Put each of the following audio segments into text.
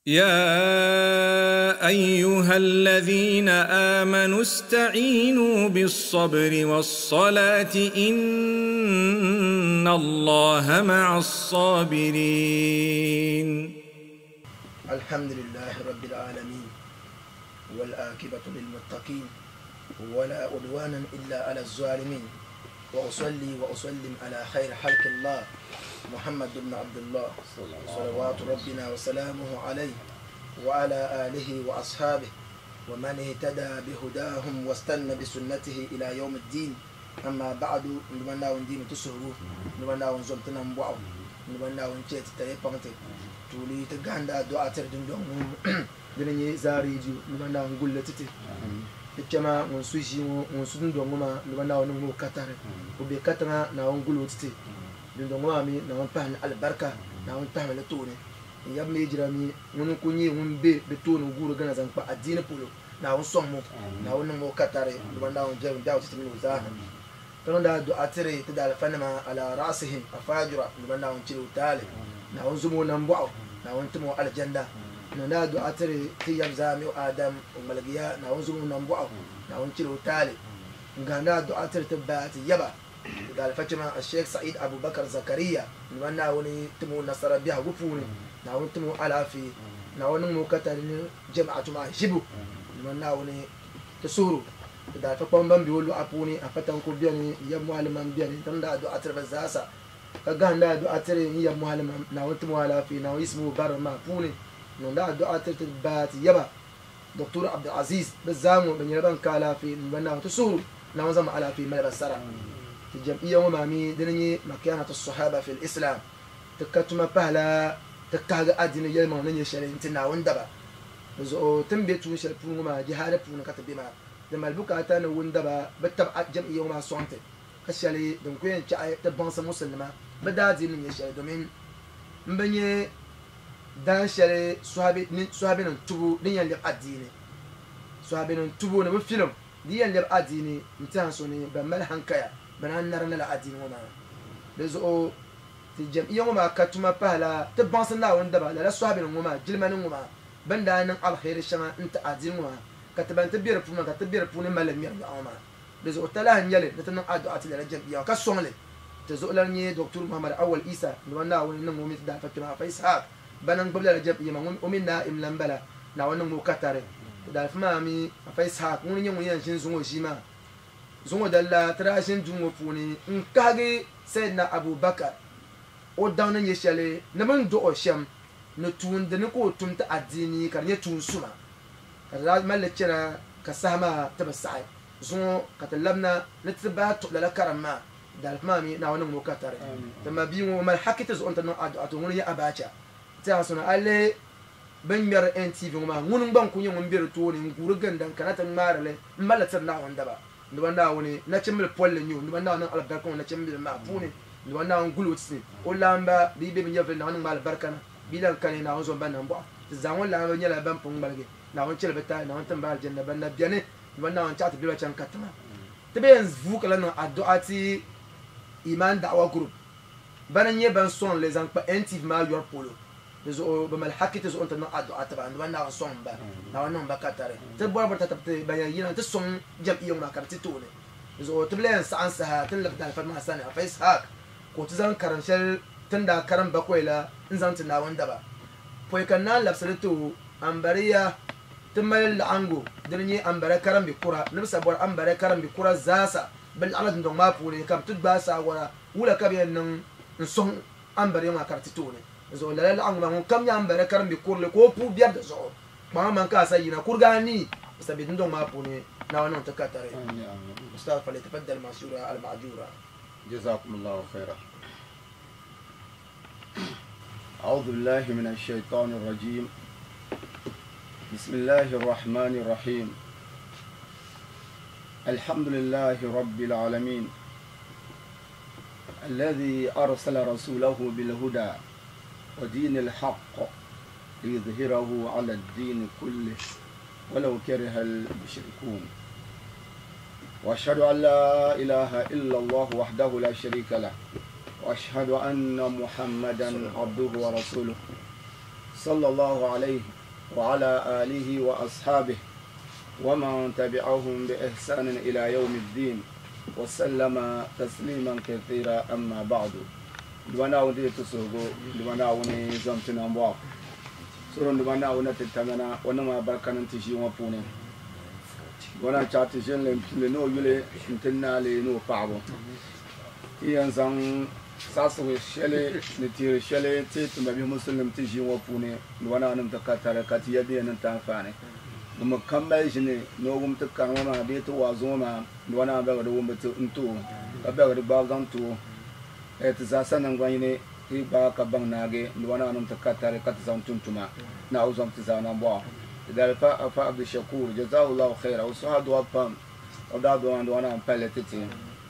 يا أيها الذين آمنوا استعينوا بالصبر والصلاة إن الله مع الصابرين. الحمد لله رب العالمين والآكبة للمتقين ولا عدوانا إلا على الظالمين، وأصلي وأسلم على خير خلق الله محمد بن عبد الله صلوات ربنا وسلامه عليه وعلى آله وأصحابه ومن اهتدى بهداهم واستنى بسنته إلى يوم الدين. أما بعد، نبنا وندين تسهرو، نبنا ونزمتنا مبعو، نبنا ونشيت تريبانتي تولي تغاندا دعاء تردن دون دنيا زاريجي، نبنا ونقول لتتي kpɛma ŋun su ʒii ŋɔ, ŋun su dundoŋ ŋɔ maa, ni ba Naawuni niŋ o katari. O be katiŋa, Naawuni guli o titi. Dundoŋ ŋɔ maa mi, Naawuni pahi ni alibarika, Naawuni tahimi li tooni. N yab mi jira mi, ŋuni n-kuli nyɛ ŋun be di tooni guuri gana zaŋ kpa adiini polo, Naawuni sɔŋ mo, Naawuni niŋ o katari, ni ba Naawuni biɛrim biɛhigu titi mini o zaaha. Ka niŋdi a du'a tiri ti daalifanima ala ra'asihim afajura, ni ba Naawuni chɛli o taali, Naawuni zom o nambɔɣu, Naawuni tim o alijanda. Niŋdi a du'a tiri ti yab zaa mi o Adam, o ŋmaligiya, Naawuni zom o nambɔɣu, Naawuni chɛli o taali. N-gahindi a du'a tiri ti ba, ti yaba, ti daalifa chɛma a-Sheikh Sa'id Abubakar Zakaria, ni ba Naawuni tim o nasara biɛhigu puuni, Naawuni tim o alaafee, Naawuni niŋmi o katari ni jama'atu maa ʒibu, ni ba Naawuni ti suhuru. Ti daalifa kpamba ban be o luɣa puuni, Afa Tanko beni, n yab Muallimam beni, ti niŋdi a du'a tiri bɛ zaasa, ka gahindi a du'a tiri n yab Muallimam, Naawuni tim o alaafee, Naawuni yiɣisimi o barim maa puuni. Niŋdi a du'a tiri ti ba, ti yaba, Doctor Abdulaziz, bɛ zaa ŋɔ bɛ nyɛla ban ka alaafee, ni ba Naawuni ti suhuru, Naawuni zaŋmi alaafee mali ba sara. Ti jam'iyya ŋɔ maa mi dini nyɛ Makanatu Sahaba fil Islam, ti ka tuma pahila ti kahigi adiini yɛlimaŋli ni nyɛ shɛli n-ti Naawuni daba. Di zuɣu ti ni be tuun shɛli puuni ŋɔ maa jihaadi puuni ka ti be maa. Di mali bukaata ni wundaba bɛ tab a jam'iyya ŋɔ maa sɔŋ ti ka shɛli din ku yɛn chaɣi ti baŋsi musulinima bɛ daadiini ni nyɛ shɛli, domin m bi nyɛ daan shɛli sɔhibinim tubu din yɛn lɛbi adiini. Sɔhibinim tubu ni bɛ filim di yɛn lɛbi adiini n-tɛha so ni ban mali hankaya bɛ naan nari lala adiini ŋɔ maa. Di zuɣu ti jam'iyya ŋɔ maa ka tuma pahila ti baŋsi Naawuni daba lala sɔhibinim ŋɔ maa jilima ni ŋɔ maa bɛ ni daa niŋ aliheri shɛŋa n-ti adiini ŋɔ maa ka ti ban ti be di puuni maa ka ti be di puuni mali li ŋmɛri nyɔɣu ŋɔ maa. Di zuɣu talahi n-nyɛ li ni ti niŋ adu'a ti lala jam'iyya ŋɔ ka sɔŋ li. Ti zuɣulan nyɛ Doctor Muhammad Awal Isa, ni ba Naawuni niŋ o mi ti daalifa kpɛma Afa Ishaq bana n-gbubi lala jam'iyya maa, ŋun o mi Naim la m-bala, Naawuni niŋmi o katari. Ti daalifa maa mi Afa Ishaq ŋuni n-nyɛ ŋun yɛn ʒini zuŋɔ ʒii maa. Zuŋɔ dali la ti daa ʒini duu ŋɔ puuni n-kahigi Sayyidina Abu Bakar o daŋ ni nyɛ shɛli ni bɛ ni dɔɣi o shɛm ni tuun dini ka o tum ti adiini ka di nyɛ tuun suma ka di daa mali li chana ka saha maa ti bi saɣi. Zuŋɔ ka ti labina ni ti bahi tuɣi lala karim maa daalifu maa mi Naawuni niŋmi o katari. Ti ma bia ŋɔ o mali haki ti zuɣu ni ti niŋ adu'a ti o ŋuni n-nyɛ Abacha. Ti a suna a lihi bɛ ni ŋmɛri NTV ŋɔ maa ŋuni gba n-kuli nyɛ ŋun be di tooni n-guuri ginda n-kana ti ŋmaari li m-mali li tiri Naawuni daba. Nduba Naawuni nachimbili polli n-nyɛ o. Nduba Naawuni niŋ alibarika ŋɔ nachimbili maa puuni. Nduba Naawuni guli o ti o laamba bɛ yi be bɛ nyɛvili Naawuni niŋ ma alibarika na. Bɛ yi lan kani Naawuni zom ba nambɔɣu. Ti zaa ŋɔ laamba nyɛla ban pun ŋmaligi Naawuni chɛli bɛ taali Naawuni tim ba alijanna ban na beni. Nduba Naawuni chaɣ ti bɛ ba chaŋ katiŋa. Ti bɛ yɛn vuui ka lahi niŋ adu'a ti Iman Da'wah Group bana n-nyɛ ban sɔŋ li zaŋ kpa NTV maa yɔri polo. Di zuɣu bɛ mali haki ti zuɣu nti niŋ adu'a ti ba, Nduba Naawuni sɔŋ ba, Naawuni niŋ ba katari. Ti bɔri bɔri tatabo ti ban yɛn yina nti sɔŋ jam'iyya ŋɔ maa ka di ti tooni. Di zuɣu ti bi lahi yɛn saɣim saha ti ni labi daalifa maa sani, Afa Ishaq, ka o ti zaŋ karim shɛli ti ni daa karim bakɔi la n-zaŋ ti Naawuni daba. Pɔi ka Naa labisi li ti o, Ambariya ti mali laɣingu din nyɛ Ambariya karimbi kura ni bɛ sa bɔri Ambariya karimbi kura zaasa bɛ laɣimla dundɔŋ maa puuni ka bɛ ti gbaai saawara wula ka bɛ yɛn niŋ n-sɔŋ Ambariya maa ka di ti tooni. Di zuɣu lala laɣingu maa ŋun kam nyɛ Ambariya karimbi kurili ka o puu biɛri di zuɣu kpaŋa man ka a sa yina kuriga anii bɛ sa be dundɔŋ maa puuni Naawuni niŋ ti katari. Ustaz falyatafaddal mashura al-ma'jura. Jazakumullahu khaira. أعوذ بالله من الشيطان الرجيم. بسم الله الرحمن الرحيم. الحمد لله رب العالمين الذي أرسل رسوله بالهدى ودين الحق ليظهره على الدين كله ولو كره المشركون. وأشهد أن لا إله إلا الله وحده لا شريك له، وأشهد أن محمدا عبده ورسوله صلى الله عليه وعلى آله وأصحابه ومن تبعهم بإحسان إلى يوم الدين وسلم تسليما كثيرا. أما بعد، دوانا ودي تسوغو دوانا وني زمتنا مبوا سورون دوانا ونتتمنا ونما بركان تجي وفوني wana chati ʒinli n-pili ni o yuli n-ti naali ni o paɣibu. Ti yɛn zaŋ saɣisigu shɛli ni tiiri shɛli ti ti mabihi musulinim ti ʒii ŋɔ puuni ni wana nim ti ka tari ka ti ya bɛ niŋ ti anfaani. Ŋun kam mali ʒini ni o wum ti kari ŋɔ maa bee ti waazu ŋɔ maa ni wana bɛgi di wumbu ti n-ti o ka bɛgi di gbaai zaŋ ti o. Ti zaasa naŋgban yini ti gbaai ka baŋ naagi ni wana nim ti ka tari ka ti zaŋ tum tuma. Naawuni zaŋ ti zaa nambɔɣu. Dalifa afa Abdushakur jazahullahu khaira o suha duwa pam o daa duwa duwa na palli titi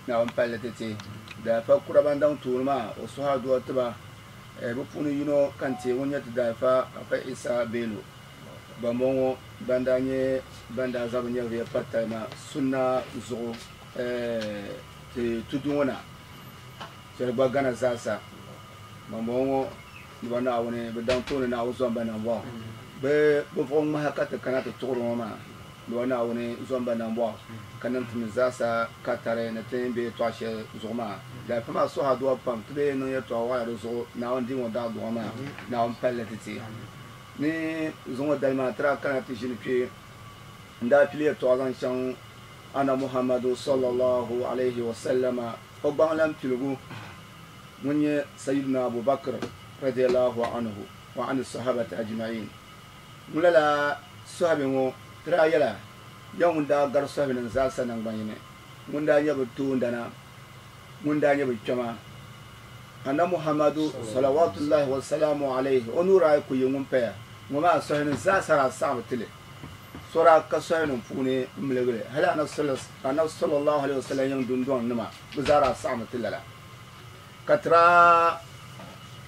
na palli titi dalifa kura ban daŋ tuuni maa o suha duwa tiba bi puuni yino kan ti ŋun nyɛ ti dalifa afa Isa Bello bambɔŋɔ ban daa nyɛ ban daa zabi nyɛviya patali ma sunna zuɣu ti tudu ŋɔ na shɛli gba gana zaasa bambɔŋɔ ni ba Naawuni bi daŋ tooni Naawuni zɔn ba nambɔɣu bɛ bi ŋmaha ka ti kana ti tuɣuri ŋɔ maa ni ba Naawuni zɔn ba nambɔɣu ka niŋ ti mi zaasa ka tari ni ti be yɛltɔɣa shɛli zuɣu maa dalifa maa suha duwa pam ti bee niŋ yɛltɔɣa waɣala di zuɣu Naawuni dii ŋɔ daa duɣa maa Naawuni palli ti ti ni zuŋɔ dali maa tira kana ti ʒini kpe n daa pili yɛltɔɣa zaŋ chaŋ ana Muhammadu sallallahu alayhi wa sallama o gbaŋ lan piligu ŋun nyɛ Sayyidina Abubakar radiyallahu anhu wa an sahabati ajma'in. Ŋun lala sahabi ŋɔ tira yɛla ya ŋun daa gari sahabi nim zaasa naŋgban yini ŋun daa nyɛ bi toondana ŋun daa nyɛ bi kpɛma ana Muhammadu salawatullahi wa salamu alayhi o nuura ayi ku yi ŋun paya ŋɔ maa sahabi nim zaasa daa saɣami tili sora ka sahabi nim puuni n miligili hali anabi sallallahu alayhi wa sallam yiŋ dundɔŋ nima bi zaa daa saɣami ti lala ka tira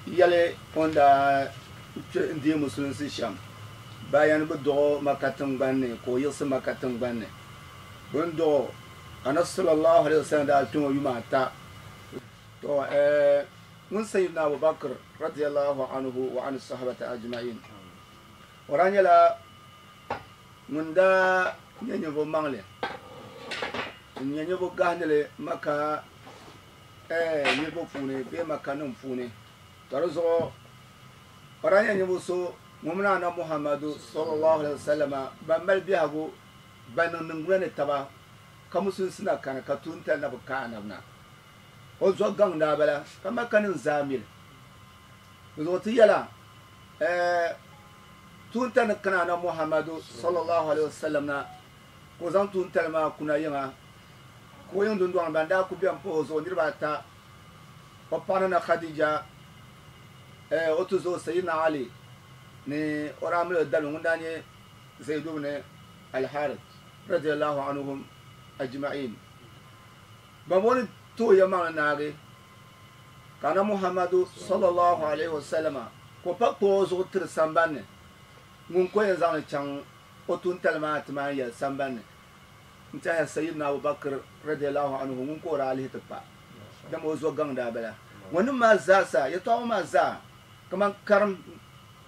yɛli o ni daa n deei musulinsi shɛm bayan bi dɔɣo Maka tiŋgbani ni ka o yiɣisi Maka tiŋgbani ni bi ni dɔɣo anabi sallallahu alayhi wa sallam daa kpɛ ŋɔ yuma ata to ŋun Sayyidina Abubakar radiyallahu anhu wa an sahabati ajma'in o daa nyɛla ŋun daa nyɛ ninvuɣ maŋli n nyɛ ninvuɣ gahindili Maka niriba puuni bee Maka nim puuni ka di zuɣu o daa nyɛ ninvuɣ so ŋun mini ana Muhammadu sallallahu alaihi wasallam ban mali biɛhigu ban niŋ niŋgbuna ni taba ka musulinsi na kani ka tuuntali na bi ka anabi na o zuɣu gaŋ daa bala ka Maka nim zaa mili di zuɣu ti yɛla tuuntali ni kana ana Muhammadu sallallahu alaihi wasallam na ka o zaŋ tuuntali maa kuna yiŋa ka o yiŋ dundɔŋ ban daa ku bɛni pahi o zuɣu niriba ata o paɣa na Khadija o tuzo Sayyidina Ali ni o daa mali o dali ŋun daa nyɛ Zaid ibn al-Harith radiyallahu anhum ajma'in ban bɔni tooi ya maŋli naagi ka ana Muhammadu sallallahu alaihi wasallama ka o pa kpuɣi o zuɣu tiri sambanni ŋun ko yɛn zaŋli chaŋ o tuuntali maa ti maan yɛli sambanni n tiɛha Sayyidina Abubakar radiyallahu anhu ŋun ka o daa lihi ti pa dama o zuɣu gaŋ daa bala ŋɔ nim maa zaasa yɛltɔɣa ŋɔ maa zaa kaman karim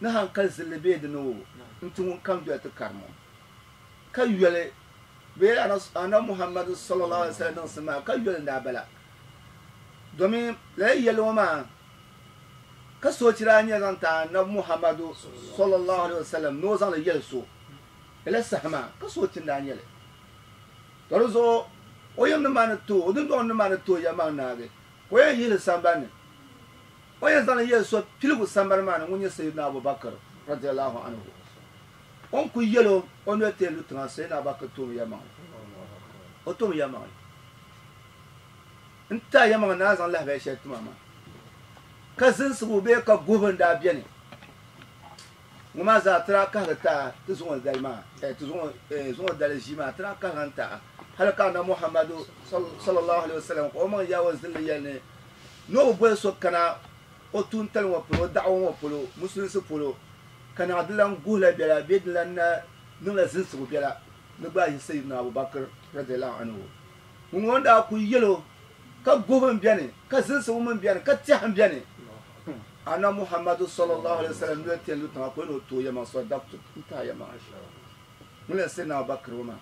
ni hankali zilli bee di ni o n-ti ŋun kam doya ti karim o ka yoli bee ana Muhammadu sallallahu alaihi wasallam niŋsim maa ka yoli n-daa bala domin lala yɛlli ŋɔ maa ka soochi daa nyɛ zaŋ ti anabi Muhammadu sallallahu alaihi wasallam ni o zaŋli yɛli so lala saha maa ka soochi n-daa nyɛli to di zuɣu o yiŋ nim maa ni tooi o dundɔŋ nim maa ni tooi yɛlimaŋ naagi ka o yɛn yihili sambani o yɛn zaŋli yɛli so piligu sambani maa ni ŋun nyɛ Sayyidina Abubakar radiyallahu anhu o ni ku yɛlo o noli ti lu tiŋa Sayyidina Abubakar toomi yɛlimaŋli o toomi yɛlimaŋli n ta yɛlimaŋli naa zaŋ lahabali shɛli tima maa ka zinsigu bee ka guhibu n daa bɛni ŋɔ maa zaa tira kahigi taa ti zuŋɔ dali maa ti zuŋɔ dali ʒii maa tira kahigi n taa hali ka ana Muhammadu sallallahu alaihi wasallam ka o maŋ yaawɔ zilli yɛli ni ni o bi boli so kana o tuuntali ŋɔ polo o daɣu ŋɔ polo musulinsi polo ka naɣ di lan guhila biɛla bee di lan na niŋla zinsigu biɛla ni gba yi Sayyidina Abubakar radiyallahu anhu ŋun ŋɔ daa ku yɛlo ka guhibu n bɛni ka zinsigu min bɛni ka tɛhi n bɛni Annabi Muhammadu sallallahu alaihi wasallam noli ti yɛn lu tiŋa ka o ni o tooi yɛlimaŋli sadaqtu n taai yɛlimaŋli. Ŋuni la Sayyidina Abubakar ŋɔ maa.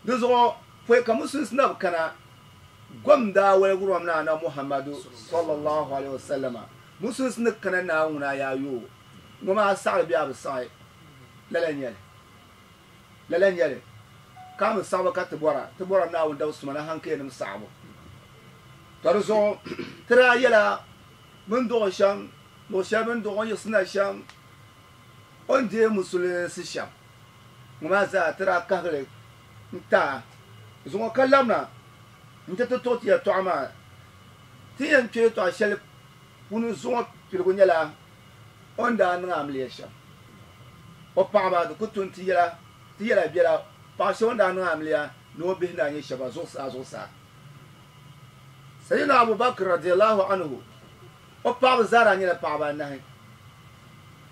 Di zuɣu pɔi ka musulinsi na bi kana, gom daa waligiri o mi ni Annabi Muhammadu sallallahu alaihi wasallam. Musulinsi ni kana Naawuni ŋuna yaa yo o. Ŋɔ maa saɣiri bee a bi saɣi? Lala n-nyɛ li. Lala n-nyɛ li. Ka a mi saɣibu ka ti bɔra, ti bɔra Naawuni dabisuma ni haŋkayanim saɣibu. Tɔ di zuɣu ti daa yɛla bɛ ni dɔɣi shɛm, luɣ shɛli bɛ ni dɔɣi o ni yiɣisi na shɛm, o ni deei musulinsi shɛm ŋɔ maa zaa ti daa kahigi li n-ti a. Zuŋɔ ka labina nti ti tuɣi ti yɛtɔɣa maa. Ti ni yɛn kpe yɛtɔɣa shɛli puuni zuŋɔ piligu nyɛla o ni daa niŋ amiliya shɛm. O paɣiba di ku tu nti yɛla ti yɛla biɛla paɣ shɛba o ni daa niŋ amiliya ni o bihi ni daa nyɛ shɛba zuɣusaa zuɣusaa. Sayyidina Abu Bakr radiyallahu anhu o paɣaba zaa daa nyɛla paɣaba anahi.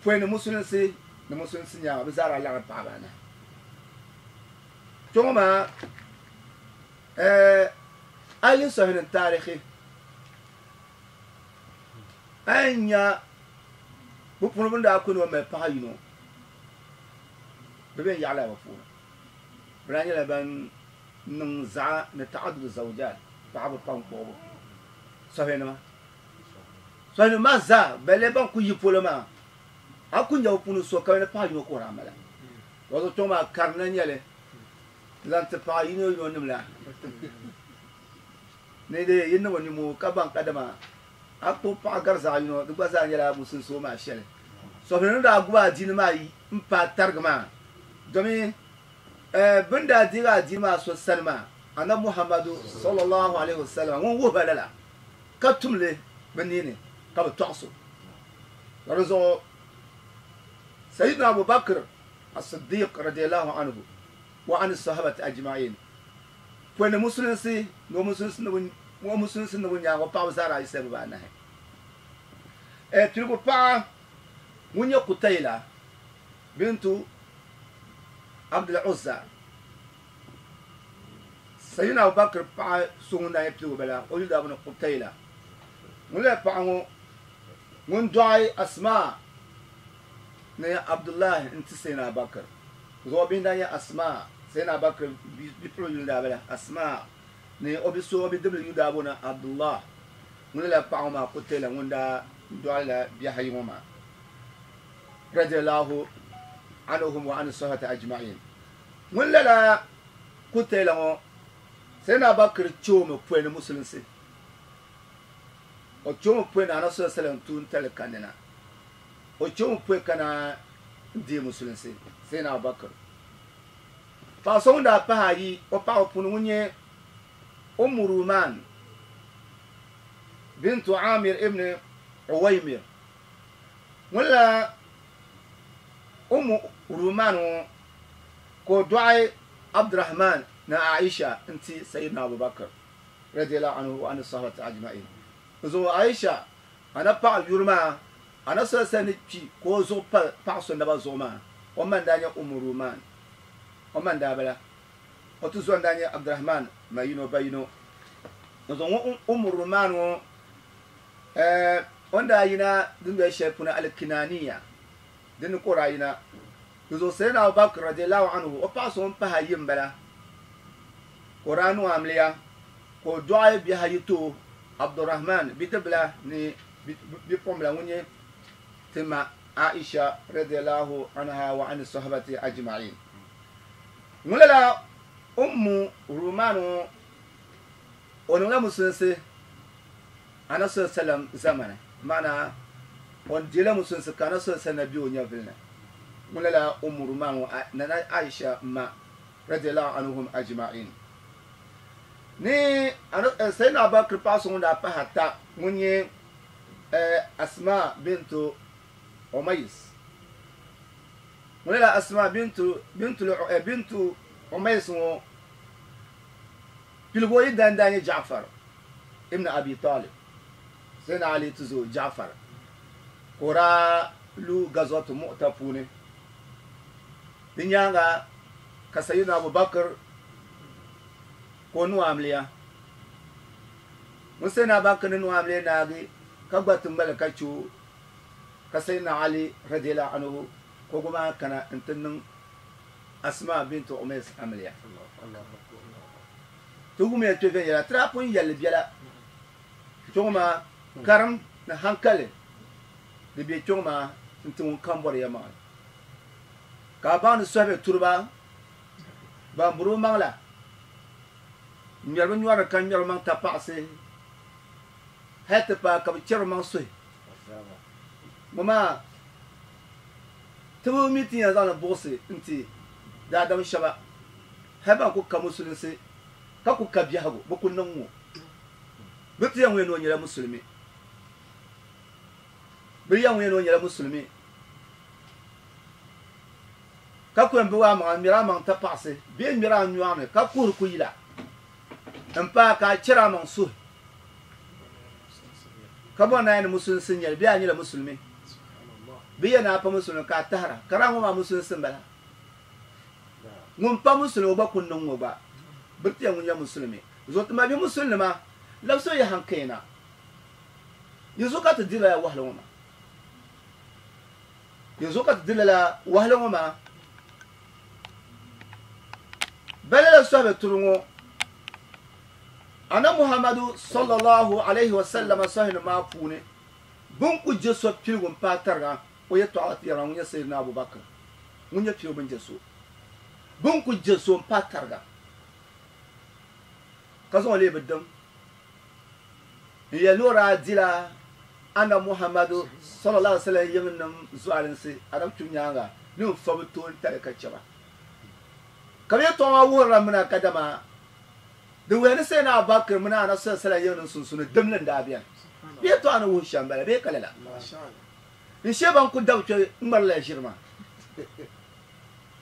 Pɔi ni musulinsi ni musulinsi nyaaŋa bɛ zaa daa laɣim paɣaba anahi. Kpɛŋɔ maa a yi lihi Sahih taarihi a yɛn nya bɛ puuni bɛ ni daa ku ni o mali paɣa yino bɛ bɛn yaɣila bɛ puuni. Bɛ daa nyɛla ban niŋ zaɣa ni taɣaddud zawjat, paɣaba pam kpuɣibu sɔhilinima. Sɔhilinima maa zaa balle ban kuli yi polo maa, a ku nya bɛ puuni so ka bɛ ni paɣa yino ka o daa mali. Wato kpɛŋɔ maa karinda n-nyɛ li n-zaŋ ti paɣa yino yino nim la ni di yi niŋ nimoo ka baŋ kadama a kpuɣi paɣa gari zaɣ yino di gba zaa nyɛla musulinsi o maa shɛli. Sɔhilinima daa gubi adiini maa m-paai tarigi maa domi Bɛ ni daa deegi adiini maa so sani maa, Anabi Muhammadu, sallallahu alayhi wa sallam, ŋun wuhi ba lala, ka tum li bɛ nini ka bɛ tɔɣis o. Ka di zuɣu Sayyidina Abu Bakr As-Siddiq radiyallahu anhu wa ani sahabati ajma'in pɔi ni musulinsi ni o musulinsi niŋbu nyaaŋa o paɣaba zaa daa yiɣisila bibaanahi. Piligu paɣa ŋun nyɛ Kutayla bintu Abdul Uzza, Sayyidina Abu Bakr paɣa so ŋun daa nyɛ piligu bala, o yuli daa booni Qutayla. Ŋun lala paɣa ŋɔ ŋun dɔɣi Asma ni Abdullah n-ti Sayyidina Abu Bakr. Zuɣu bihi n-daa nyɛ Asma, Sayyidina Abu Bakr bipuɣiŋ yuli daa bala Asma ni o bi so o bidibili yuli daa booni Abdullah. Ŋun lala paɣa ŋɔ maa Qutayla ŋun daa dɔɣi la bihi ayi ŋɔ maa. Radiyallahu anhum wa ani sahabati ajma'in. Ŋun lala Kutayla ŋɔ, Sayyidina Abubakar che o mi pɔi ni Musulinsi. O che o mi pɔi ni Anabi sallallahu alaihi wasallam tuuntali kanni na. O che o mi pɔi ka na deei Musulinsi, Sayyidina Abubakar. Paɣa so ŋun daa pahi ayi o paɣaba puuni ŋun nyɛ Ummu Ruman bintu Amir ibn Uwaymir. Ŋun la Ummu Ruman ŋɔ ka o dɔɣi Abdurrahman ni Aisha n-ti Sayyidina Abu Bakr radiyallahu anhu wa ani sahabati ajma'in. N zuɣu Aisha a na paɣ yuri maa a na soli sani ni kpi ka o zuɣu pa paɣ so naba zuɣu maa, o ma n-daa nyɛ Ummu Ruman. O ma n-daa bala. O tuzo n-daa nyɛ Abdurrahman ma yino ba yino. N zuɣu ŋun Ummu Ruman ŋɔ O ni daa yina dundoli shɛli puuni Al-Kinaniya, din ni ka o daa yina. Di zuɣu Sayyidina Abu Bakr radiyallahu anhu, o paɣa so ŋun pahi ayi m-bala, ka o daa niŋ amiliya, ka o dɔɣi bihi ayi ti o, Abdurrahman bidibila ni bipuɣimbila ŋun nyɛ ti ma Aisha radiyallahu anha wa ani sahabati ajma'in. Ŋun lala Ummu Ruman ŋɔ, o niŋla musulinsi Anabi sallallahu alayhi wasallam zamani, maana o deela musulinsi ka Anabi sallallahu alayhi wasallam na be o nyɛvili ni. Ŋun lala Ummu Ruman ŋɔ Nana Aisha ma radiyallahu anhum ajma'in. Ni Sayyidina Abu Bakr paɣa so ŋun daa pahi ata ŋun nyɛ Asma bintu Umays. Ŋun lala Asma bintu Umays ŋɔ piligu o yidana daa nyɛ Ja'far ibn Abi Talib, Sayyidina Ali tuzo Ja'far, ka o daa lu Ghazwatu Mu'ta puuni. Di nyaaŋa ka Sayyidina Abu Bakr ka o niŋ amiliya. Ŋun Sayyidina Abu Bakr ni niŋ amiliya naagi ka gba ti ŋmaligi ka che o. Ka Sayyidina Ali radiyallahu anhu ka o gba maa kana n-ti niŋ Asma bint Umays amiliya. Ti wumiya kpe viɛnyɛla, ti daa pun yɛli li biɛla kpe ŋɔ maa karim ni hankali di be kpe ŋɔ maa n-ti ŋun kam bɔri yɛlimaŋli. Ka a baŋ ni sɔhibe turiba ban buri bɛ maŋ la ŋmɛri bɛ nyɔri ni ka ŋmɛri bɛ maŋ tapaɣisi hali ti paai ka bɛ chɛri bɛ maŋ suhi. Ŋɔ maa ti bi mi ti yɛn zaŋ li buɣisi nti daadam shɛba hali ban ku ka musulinsi ka ku ka biɛhigu bɛ ku niŋ ŋɔ. Bɛ ti yɛn ŋun yɛn ni o nyɛla musulimi. Bɛ yɛn ŋun yɛn ni o nyɛla musulimi ka ku yɛn bi a maŋa n-ŋmɛri a maŋ tapaɣisi bee n-ŋmɛri a nyɔɣu ni ka kuhiri kuyila m-paai ka a chɛri a maŋ suhi ka bɔri ni a yɛn ni musulinsi n-nyɛ li bee a nyɛla musulimi bɛ yɛn ni a pa musulimi ka a tahira ka di a ŋɔ maa musulinsi m-bala. Ŋun pa musulimi o gba ku niŋ ŋɔ gba biri ti yɛn ŋun nyɛ musulimi zuɣu ti mabihi musulinima labisi o yi hankayna yi zuɣu ka ti diri lala wahala ŋɔ maa. Yi zuɣu ka ti diri lala wahala ŋɔ maa. Bɛ lala sɔhibe turi ŋɔ Annabi Muhammadu sallallahu alayhi wa sallama sɔhinim maa puuni bɛ ni ku je so piligu m-paai tariga o yɛtɔɣa ti yɛra ŋun nyɛ Sayyidina Abu Bakr ŋun nyɛ piligu bɛ ni je so bɛ ni ku je so m-paai tariga ka zaŋ o leei bɛ dim n-yɛli ni o daa dila Annabi Muhammadu sallallahu alaihi wasallam yiŋnim zualinsi Arab kpibu nyaaŋa ni n-fa bɛ toon tali ka chɛ ba. Ka bɛ yɛtɔɣa maa wuhirila mina kadama di wuhiya ni Sayyidina Abu Bakr mini Annabi sallallahu alaihi wasallam yiŋnim sunsuuni dimli n-daa beni. Bɛ yɛtɔɣa ni wuhi shɛm m-bala bee ka lala? N-shee ban ku dabi kpe ŋmarila ʒiri maa.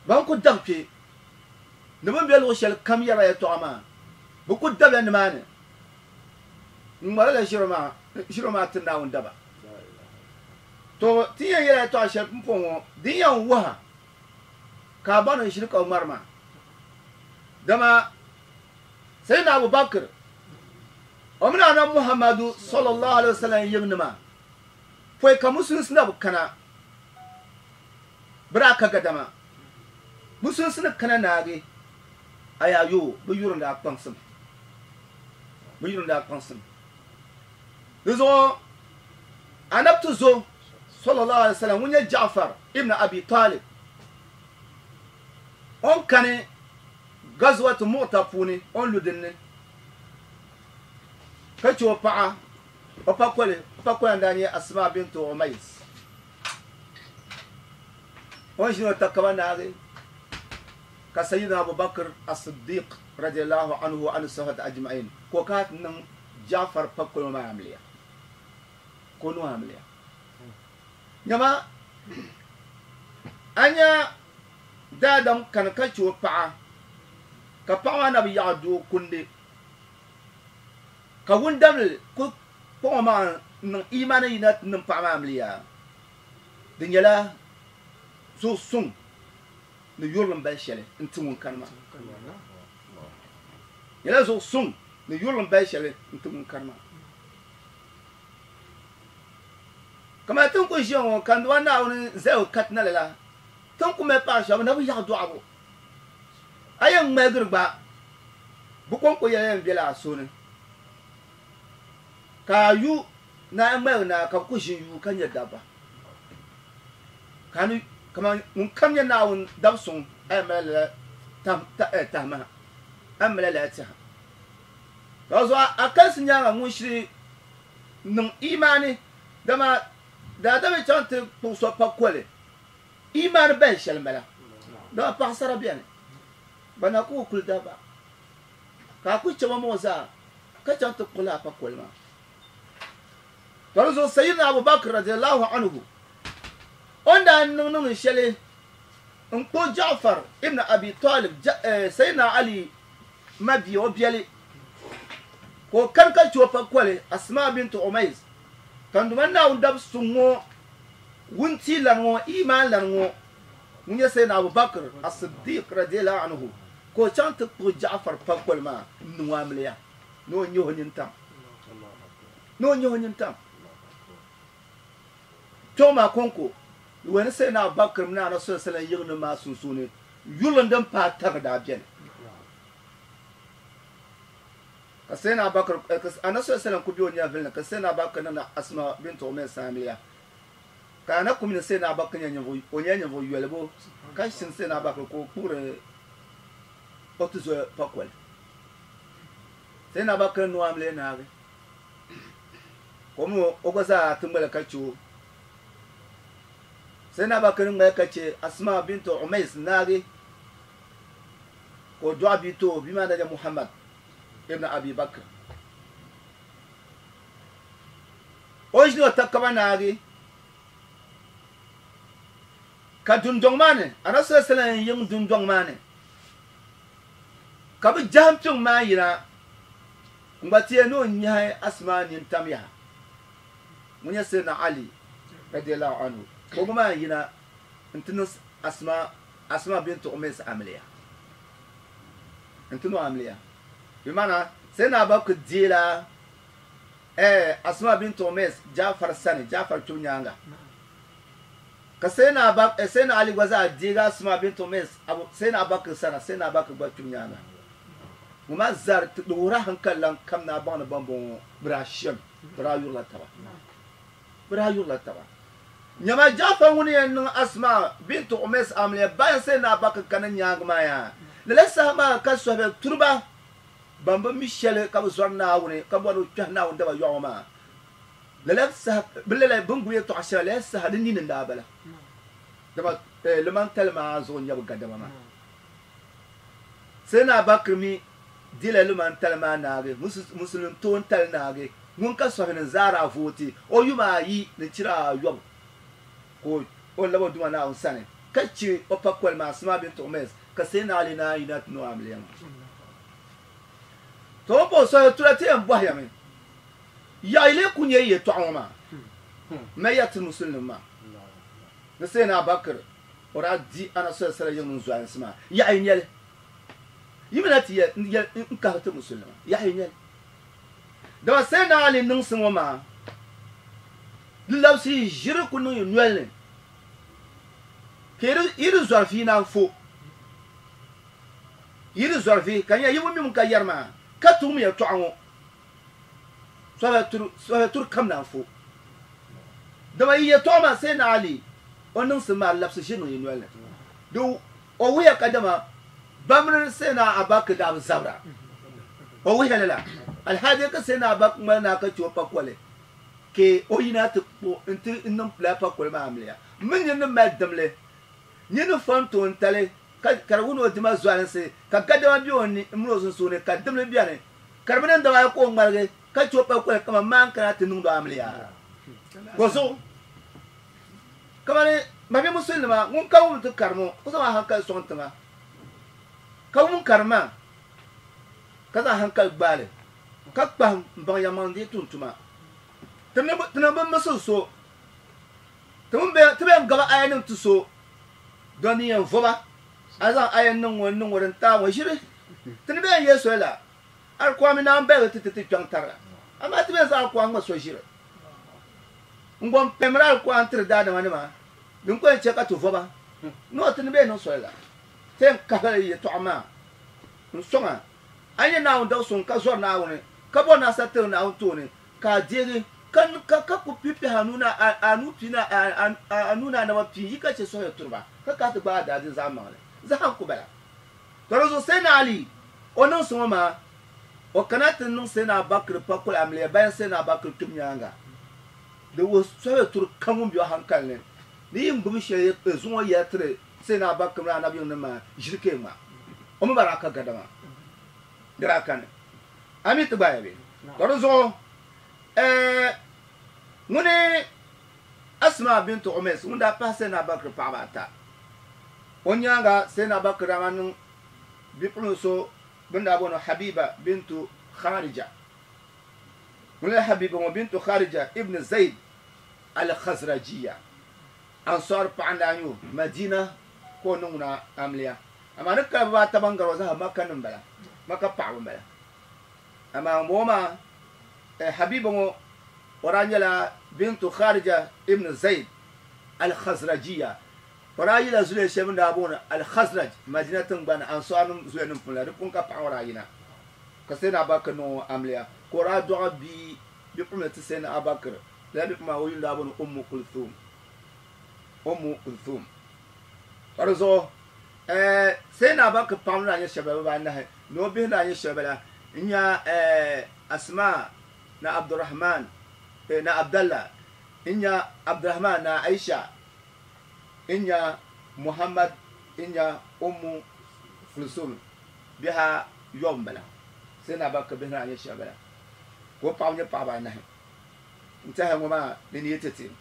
Ban ku dabi kpe ni bɛ ni be luɣ shɛli kam yɛrila yɛtɔɣa maa, bɛ ku dabila nimaani n-ŋmarila ʒiri maa ti Naawuni daba. Tɔ! Ti yɛn yɛla yɛtɔɣa shɛli pumpɔŋɔ din yɛn wuhi a ka a baŋ ni ʒiri ka bɛ ŋmari maa. Dama Sayyidina Abu Bakr, o mini Anabi Muhammadu sallallahu alaihi wasallam yiŋnima pɔi ka Musulinsi na bi kana, bɛ daa ka gadama. Musulinsi ni kana naagi ayayo bɛ yuri n-daa kpaŋsim. Bɛ yuri n-daa kpaŋsim. Di zuɣu Anabi ti zo sallallahu alaihi wasallam ŋun nyɛ Ja'far ibn Abi Talib o ni kani Ghazwat Mu'ta puuni o ni lu din ni ka che o paɣa o pakoli, o pakola n-daa nyɛ Asma bint Umays. O ni ʒini o takaba naagi ka Sayyidina Abu Bakr as-Siddiq radiyallahu anhu wa ani sahabati ajma'in ka o kana ti niŋ Ja'far pakoli ŋɔ maa amiliya. Ka o niŋ o amiliya. Nyama a nya daadam kani ka che o paɣa ka paɣa maa na bi yaɣi doo kundi ka wundamli ku kpaŋ o maŋa n-niŋ iimani yina ti niŋ paɣa maa amiliya. Di nyɛla zuɣu suŋ ni yurilim bali shɛli n-ti ŋun kani maa. Nyɛla zuɣu suŋ ni yurilim bali shɛli n-ti ŋun kani maa. Kamani ti ni kuli ʒiya ŋɔ ka n Duuma Naawuni zali o katina lala, ti ni ku mali paɣa shɛba bɛ na bi yaɣi dɔɣibu. A yɛn ŋmaligiri gba, bɛ kɔŋko yɛla yɛn bela a suhu ni. Ka a yu ni a ŋmaligi na ka bɛ ku ʒi n-yuui ka nya dabba. Ka a ni kaman ŋun kam nyɛ Naawuni dab suŋ, a yɛn mali lala tahimaha, a ni mali lala tɛha. Ka zuɣu a kalisi nyaaŋa ŋun shiri niŋ imaani, dama daadam yi chaŋ ti kpuɣi so pakoli, imaani bahi shɛli m-bala, dama paɣisara beni, bɛ na ku kuli dabba, ka a ku chɛ ba mɔɣu zaa ka chaŋ ti kpuɣi lala pakoli maa. Ka di zuɣu Sayyidina Abu Bakr radiyallahu anhu o ni daa niŋ niŋdi shɛli n-kpuɣi Ja'far ibn Abi Talib, Sayyidina Ali mabia, o biɛli, ka o kani ka chɛ o pakoli Asma bint Umays, ka n Duuma Naawuni dab suŋ ŋɔ, wuntia lani ŋɔ, iimaan lani ŋɔ, ŋun nyɛ Sayyidina Abu Bakr as-Siddiq radiyallahu anhu, ka o chaŋ ti kpuɣi Ja'far pakoli maa n-niŋ o amiliya ni o nyɛ o nintam. Ni o nyɛ o nintam. Kpɛŋɔ maa kɔŋko, di wuhi ni Sayyidina Abubakar mini Anabi sallallahu alaihi wasallam yiŋnim maa sunsuuni yurilim din paai tariga daa beni. Ka Sayyidina Abubakar, ka Anabi sallallahu alaihi wasallam ku be o nyɛvili ni ka Sayyidina Abubakar niŋdi Asma bint Umays amiliya. Ka Anabi ku mi ni Sayyidina Abubakar nyɛ ninvuɣ, o nyɛla ninvuɣ yolibu ka shini Sayyidina Abubakar ka o kpuɣiri o tuzo pakoli. Sayyidina Abubakar niŋ o amiliya naagi. Ka o mi o gba zaa ti ŋmali ka che o. Sayyidina Abubakar ŋmali ka che Asma bint Umays naagi ka o dɔɣi bia ti o, bia maa daa nyɛ Muhammad ibn Abi Bakr. O ʒini o takaba naagi ka dundɔŋ maa ni, Anabi sallallahu alaihi wasallam yiŋ dundɔŋ maa ni ka bɛ jahim kpiŋ maa yina n-gba ti yɛli ni o nyahi Asma nintam yaha ŋun nyɛ Sayyidina Ali radiyallahu anhu ka o gba maa yina n-ti niŋ Asma, Asma bint Umays amiliya n-ti niŋ o amiliya. Bɛ maana Sayyidina Abubakar deela eh Asma bint Umays Jafar sani, Jafar kpibu nyaaŋa. Ka Sayyidina Aba, eh, Sayyidina Ali gba zaa deegi Asma bint Umays Abu, Sayyidina Abubakar sani, Sayyidina Abubakar gba kpibu nyaaŋa. Ŋɔ maa zaa di wuhiri hankali lan kam ni a baŋ ni bambɔŋɔ bɛ daa shɛm, bɛ daa yurila taba. Bɛ daa yurila taba. Nyama Jafar ŋuni yɛn niŋ Asma bint Umays amiliya bayan Sayyidina Abubakar kani nyaaŋa maa yaa. Lala saha maa ka sɔhibe turiba ban bi mi shɛli ka bi zɔri Naawuni ka bɔri ni bɛ kpɛhi Naawuni daba yɔɣu ŋɔ maa lala saha bɛ lala bɛ ni gbubi yɛltɔɣa shɛli lala saha di nini n-daa bala. Dama limantali maa zuɣu n-nyɛ bɛ gadama maa. Sayyidina Abubakar mi dila limantali maa naagi, Musulin toontali naagi, ŋun ka sɔhini n-zaari a vooti o yuma ayi ni chira ayɔbu ka o lab o Duuma Naawuni sani ka chɛ o pakoli maa Asma bint Umays ka Sayyidina Ali naan yina ti niŋ o amiliya maa. To o ni pa o sɔhili tura ti yɛn bɔhiya mi, Yaɣi lee ku nyɛ yi yɛtɔɣa ŋɔ maa? M ya ti Musulinima maa ni Sayyidina Abubakar o daa di Anabi sallallahu alaihi wasallam yiŋ mini zualinsi maa, yaɣi nyɛli yi mi na ti yɛli n-kahigi ti Musulinima, yaɣi nyɛli. Dama Sayyidina Ali niŋsi ŋɔ maa di labisi yi ʒiri ku niŋ yi noli ni ka yi di zɔri vi naan fo. Yi di zɔri vi ka nya yi bi mi ŋun ka yɛri maa ka ti wum yɛtɔɣa ŋɔ sɔhibe turi kam naan fo. Dama yi yɛtɔɣa maa Sayyidina Ali o niŋsim maa labisi ʒiri niŋ yi noli ni. Di o wuhiya kadama ba mini Sayyidina Abubakar daa bi zabira. O wuhiya lala alhaji ka Sayyidina Abubakar ŋmali naa ka che o pakoli ka o yina ti kpuɣi nti niŋ lala pakoli maa amiliya. M mi nini ni mali dimli, nini ni fɔn toontali ka ka di wuhi ni o dima zualinsi ka gadama be o ni mini o sunsuuni ka dimli beni ka di bi niŋ daba ayi ka o ŋmaligi ka che o pakoli kaman maan kana ti niŋdi o amiliya. Bɔzuɣu kamani mabia musulinima ŋun ka wum ti karim o ka zaŋ a hankali sɔŋ tiŋa ka wum karim maa ka zaŋ hankali gbaai li ka kpahim m-baŋ yɛlimaŋli di yi tum tuma. Ti niŋ bi misil so, ti bɛn gabi ayanim ti so dɔn din yɛn voba, a zaŋ aya niŋ ŋɔ n-niŋ ŋɔ din taai ŋɔ ʒiri. Ti ni bɛn yɛli soli la, Alikuami naan baligi ti ti ti kpiɔŋ tariga, amaa ti bɛn zaŋ alikuami ŋɔ so ʒiri n-gom pɛmiri alikuami tiri daadamanima din ku yɛn chɛ ka ti voba. Noo ti ni bɛn niŋ soli la, ti yɛn kahigila yɛtɔɣa maa n-sɔŋ a. A nyɛ Naawuni dab suŋ ka zɔri Naawuni, ka bɔri ni a sa tiri Naawuni tooni, ka a deegi, ka ka ka ku pipihi a nuu ni a a nuu pii ni a a nuu ni a naba pii yi ka chɛ sɔhiya turi ba, ka kahi ti gbaai a daadin zaɣ maŋli. Zaha n-ku bala. Tɔ di zuɣu Sayyidina Ali, o niŋsi ŋɔ maa, o kana ti niŋ Sayyidina Abubakar pakoli amiliya bayan Sayyidina Abubakar kpibu nyaaŋa. Di wuhi sɔhiya turi kam ŋun be o hankali ni, ni yi ni gbubi shɛli zuŋɔ yɛla tiri Sayyidina Abubakar mini Anabi yiŋnim maa ʒiri ka yi ŋma. O mi ba daa ka gadama, di daa kani. A mi ti gbaaya bee? Tɔ di zuɣu ɛɛ ŋuni Asma bint Umays ŋun daa pahi Sayyidina Abubakar paɣaba ata. O nyaaŋa Sayyidina Abubakar daa maa niŋ bipuɣin so bɛ ni daa booni Habiba bintu Kharija. Ŋuni la Habiba ŋɔ bintu Kharija ibn Zayd al-Khazrajiya. Ansar paɣa n-daa nyɛ o, Madina ka o niŋ ŋuna amiliya. Amaa ni kali bibaata ban gari o zaa Makka nim bala, Makka paɣaba m-bala. Amaa ŋunbɔŋɔ maa, Habiba ŋɔ, o daa nyɛla bintu Kharija ibn Zayd. Al-Khazrajiyya. O daa yila zuliya shɛli bɛ ni daa booni Al-Khazraj, Madina tiŋgbani Ansaarnim zuliyanim puuni la, di puuni ka paɣa ŋɔ daa yina ka Sayyidina Abubakar niŋ o amiliya, ka o daa dɔɣi bia bipuɣimbila ti Sayyidina Abubakar. Lala bipuɣimbila maa o yuli daa booni Ummu Kulthum. Ummu Kulthum. Ka di zuɣu Sayyidina Abubakar paɣaba ni daa nyɛ shɛba bala, bibaanahi, ni o bihi ni daa nyɛ shɛba bala n-nya Asma ni Abdurrahman ni Abdallah, n-nya Abdurrahman ni Aisha, n-nya Muhammad, n-nya Ummu Kulsum, bihi ayɔbu m-bala. Sayyidina Abubakar bihi ni daa nyɛ shɛba bala, ka o paɣaba nyɛ paɣaba anahi. N tɛha ŋɔ maa ni ni yi ti ti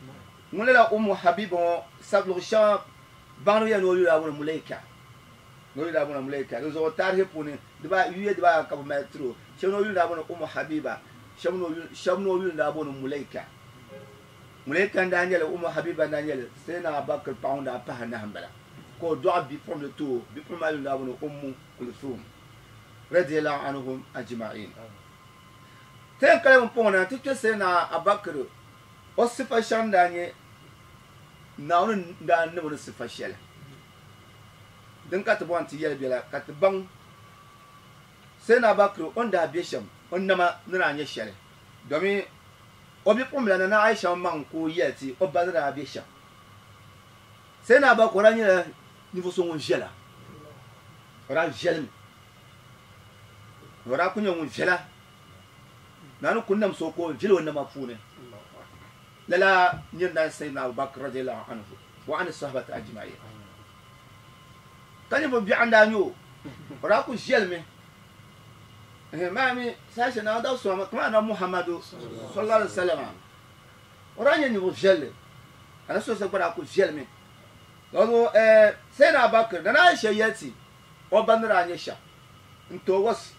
ŋun lala Ummu Habiba ŋɔ sab luɣ shɛŋa baŋdiba yɛli ni o yuli daa booni Mulaika, ni o yuli daa booni Mulaika. Di zuɣu taarihi puuni yuya dibaa ka bɛ mali tiri o. Shɛba ni o yuli daa booni Ummu Habiba, shɛba ni o yuli daa booni Mulaika. Mulaika n-daa nyɛli Ummu Habiba n-daa nyɛli Sayyidina Abubakar paɣa ŋun daa pahi anahi m-bala, ka o dɔɣi bipuɣimbila ti o. Bipuɣimbila maa yuli daa booni Ummu Kulthum radiyallahu anhum ajma'in. Ti yɛn kali pumpɔŋɔ na nti kpe Sayyidina Abubakar o sifa shɛŋa ni daa nyɛ Naawuni ni daa niŋ o ni sifa shɛli din ka ti bɔri ni ti yɛli bela ka ti baŋ Sayyidina Abubakar o ni daa be shɛm, o nama ni daa nyɛ shɛli, domin o bipuɣimbila Nana Aisha maŋ ka o yɛli ti o ba ni daa be shɛm. Sayyidina Abubakar o daa nyɛla ninvuɣ so ŋun viɛla, o daa viɛlimi. O daa kuli nyɛ ŋun viɛla, Naawuni kuli nam so ka o viɛli o nama puuni. Lala nir n-daa nyɛ Sayyidina Abu Bakr radiyallahu anhu wa ani sahabati ajma'in. Ka ninvuɣ biɛɣu n-daa nyɛ o, o daa kuli viɛlimi. Maa mi saha shɛli Naawuni daa sɔŋ kamani Anabi Muhammadu sallallahu alaihi wasallam, o daa nyɛ ninvuɣ viɛlli, Anabi sallallahu alaihi wasallam gba daa kuli viɛlimi. Lala zuɣu Sayyidina Abu Bakr, Nana Aisha yɛli ti o ba ni daa nyɛ shɛm n-ti o was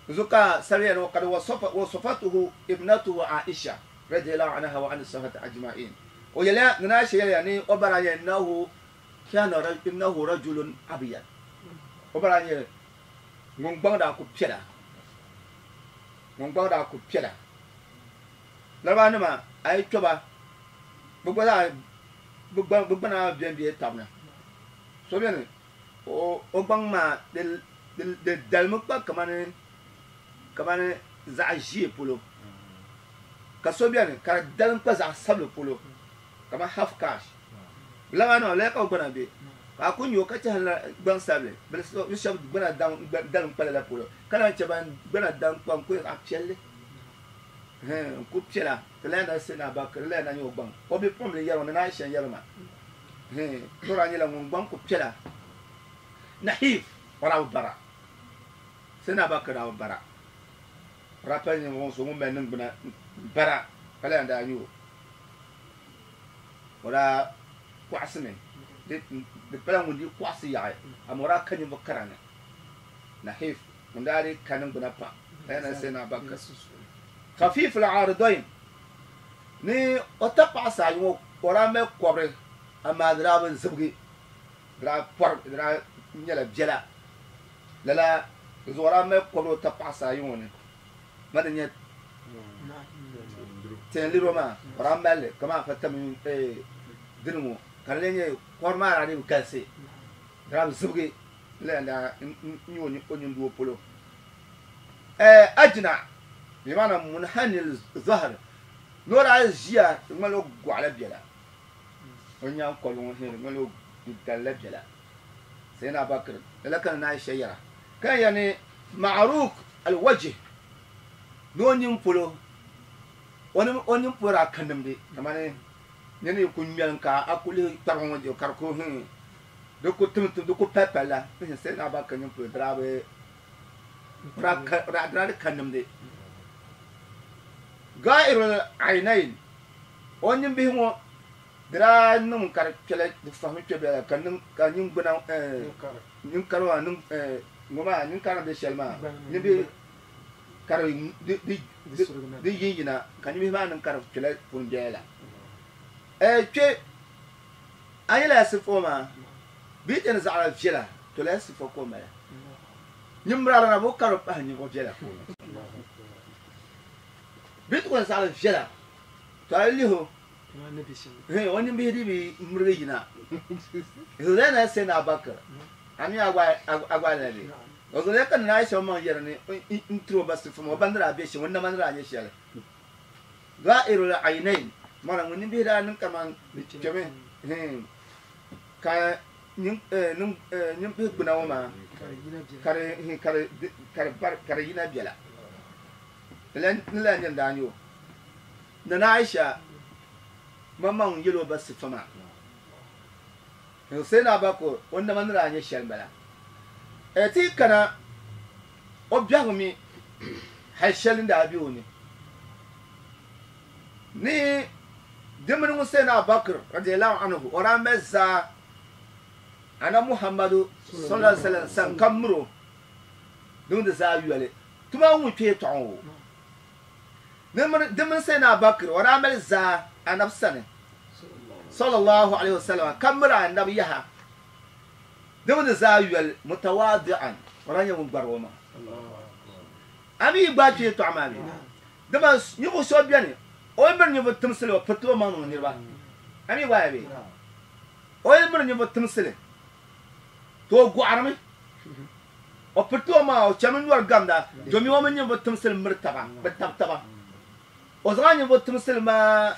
zuɣu ka sariya ni kad wasafatuhu ibnatuhu Aisha radiyallahu anha wa ani sahabati ajma'in. O yɛliya, Nana Aisha yɛliya ni o ba daa nyɛ innahu kana innahu rajulun abyad. O ba daa nyɛ ŋun gbaŋ daa ku piɛla, ŋun gbaŋ daa ku piɛla. Larabawanima a yi kpe ba, bɛ gba zaa bɛ gbana bembe tab ni. So beni o gbaŋ maa di dalimi kpa kamani zaɣ ʒiɛ polo, ka so beni ka di dalim kpa zaɣ sabili polo kamani half cash. Lala maa ka o gbana be, ka a ku nya o ka chɛhirila gbaŋ sabili. Bɛ shɛba gbana dalim kpa lala polo, ka naan chɛ ban gbana dalim kpa n-ku nyɛ zaɣ piɛlli n-ku piɛla. Ti lahi na Sayyidina Abubakar, di lahi na nyɛ o gbaŋ. O bipuɣimbila yɛri o ni Aisha n-yɛri ma. Tora nyɛla ŋun gbaŋ ku piɛla. Nahif, o daa bi bara. Sayyidina Abubakar daa bi bara. O daa pali ninvuɣ so ŋun mali niŋgbuna bara ka lahi daa nyɛ o. O daa kɔɣisimi, di pala ŋun dii kɔɣisi yaɣi, amaa o daa ka ninvuɣ kara ni. Nahif, ŋun daa dii ka niŋgbuna pam, ka lahi na Sayyidina Abubakar. Khafif al-Aridain, ni o tapaɣisi ayi ŋɔ o daa mali kɔbiri amaa di daa bi zibigi, di daa pɔri, di daa nyɛla biɛla. Lala di zuɣu o daa mali kɔbiri o tapaɣisi ayi ŋɔ ni, ma di nyɛ tɛnliro maa o daa mali li kamani afa tamim dini ŋɔ ka di lee nyɛ kɔbiri maa daa dii bi galisi, di daa bi zibigi lala n-daa nyɛ o nyindoo polo. Ajna bimana munhanil zahir ni o daa ʒiya di ŋmanila o gɔɣila biɛla, o nyaŋkɔligu ŋɔ di ŋmanila o dalila biɛla. Sayyidina Abubakar lala ka Nana Aisha yɛra ka yɛn yɛli ni ma'ruk al-wajh ni o nini polo o nini polo daa ka nimdi kamani nini yi ku ŋmɛlim ka a ku lihi kparigu ŋɔ ka di ku di ku tim di ku pali palila Sayyidina Abubakar nini polo di daa bi daa di ka nimdi. Ga'irul aynayn, o nimbihi ŋɔ di daa niŋ ka di kpɛla di fahimi kpɛ bela ka niŋ ka ningbuna ninkari maa niŋ ŋɔ maa ninkari ni bɛ shɛli maa nimbihi ka di yinyina ka nimbihi maa niŋ ka di kpɛla puni bela la. Kpɛ a nyɛla ya sifa ŋɔ maa bɛ yi ti yɛn zaɣila viɛla to lala sifa ka o mali. Nyimbralana na bo ka di pahi ninvuɣ viɛla puuni. Bɛ ti kuli zaɣili viɛla, to a yi lihi o. O nimbihi di bi mirigi yina. Zulena sai na Bakar. Ami agwa na bi. O zule kan na Aisha man yɛri ni n tiro ba sifa mo bandira be shi wannan mandira ne shele. Ga'irul aynain mara ŋun nimbihi daa niŋ kaman kpɛmi ka nimbihi gbuna ŋɔ maa ka di yina biɛla. Ni la nyɛ daa nyɛ o. Nana Aisha maŋmaŋ yɛl o ba sifa maa. Sai na Bakar o nama ni daa nyɛ shɛli m-bala. Ti kana o biɛhigu mi hali shɛli n daa be o ni. Ni dimini ŋun sai na Bakar radiyallahu anhu o daa mali zaa ana Muhammadu sallallahu alaihi wasallam san ka miro din di zaa yoli tuma ŋun kpee tɔɣu o. Dimini sai na Bakar o daa mali zaa anabi sani sallallahu alaihi wasallam ka miri anabi yaha din di zaa yoli mutawadi'an o daa nyɛ ŋun gbari o maŋa. Ami yi gbaai kpee tɔɣu maa mi dama ninvuɣu so beni o yi miri ninvuɣu timsili o piriti o maŋ niŋ niriba. Ami gbaai bee o yi miri ninvuɣu timsili to o gɔɣirimi o piriti o maŋa o chami nyɔri gamda domi o mini ninvuɣu timsili miri taba bi tabi taba o zaŋ ninvuɣu timsili maa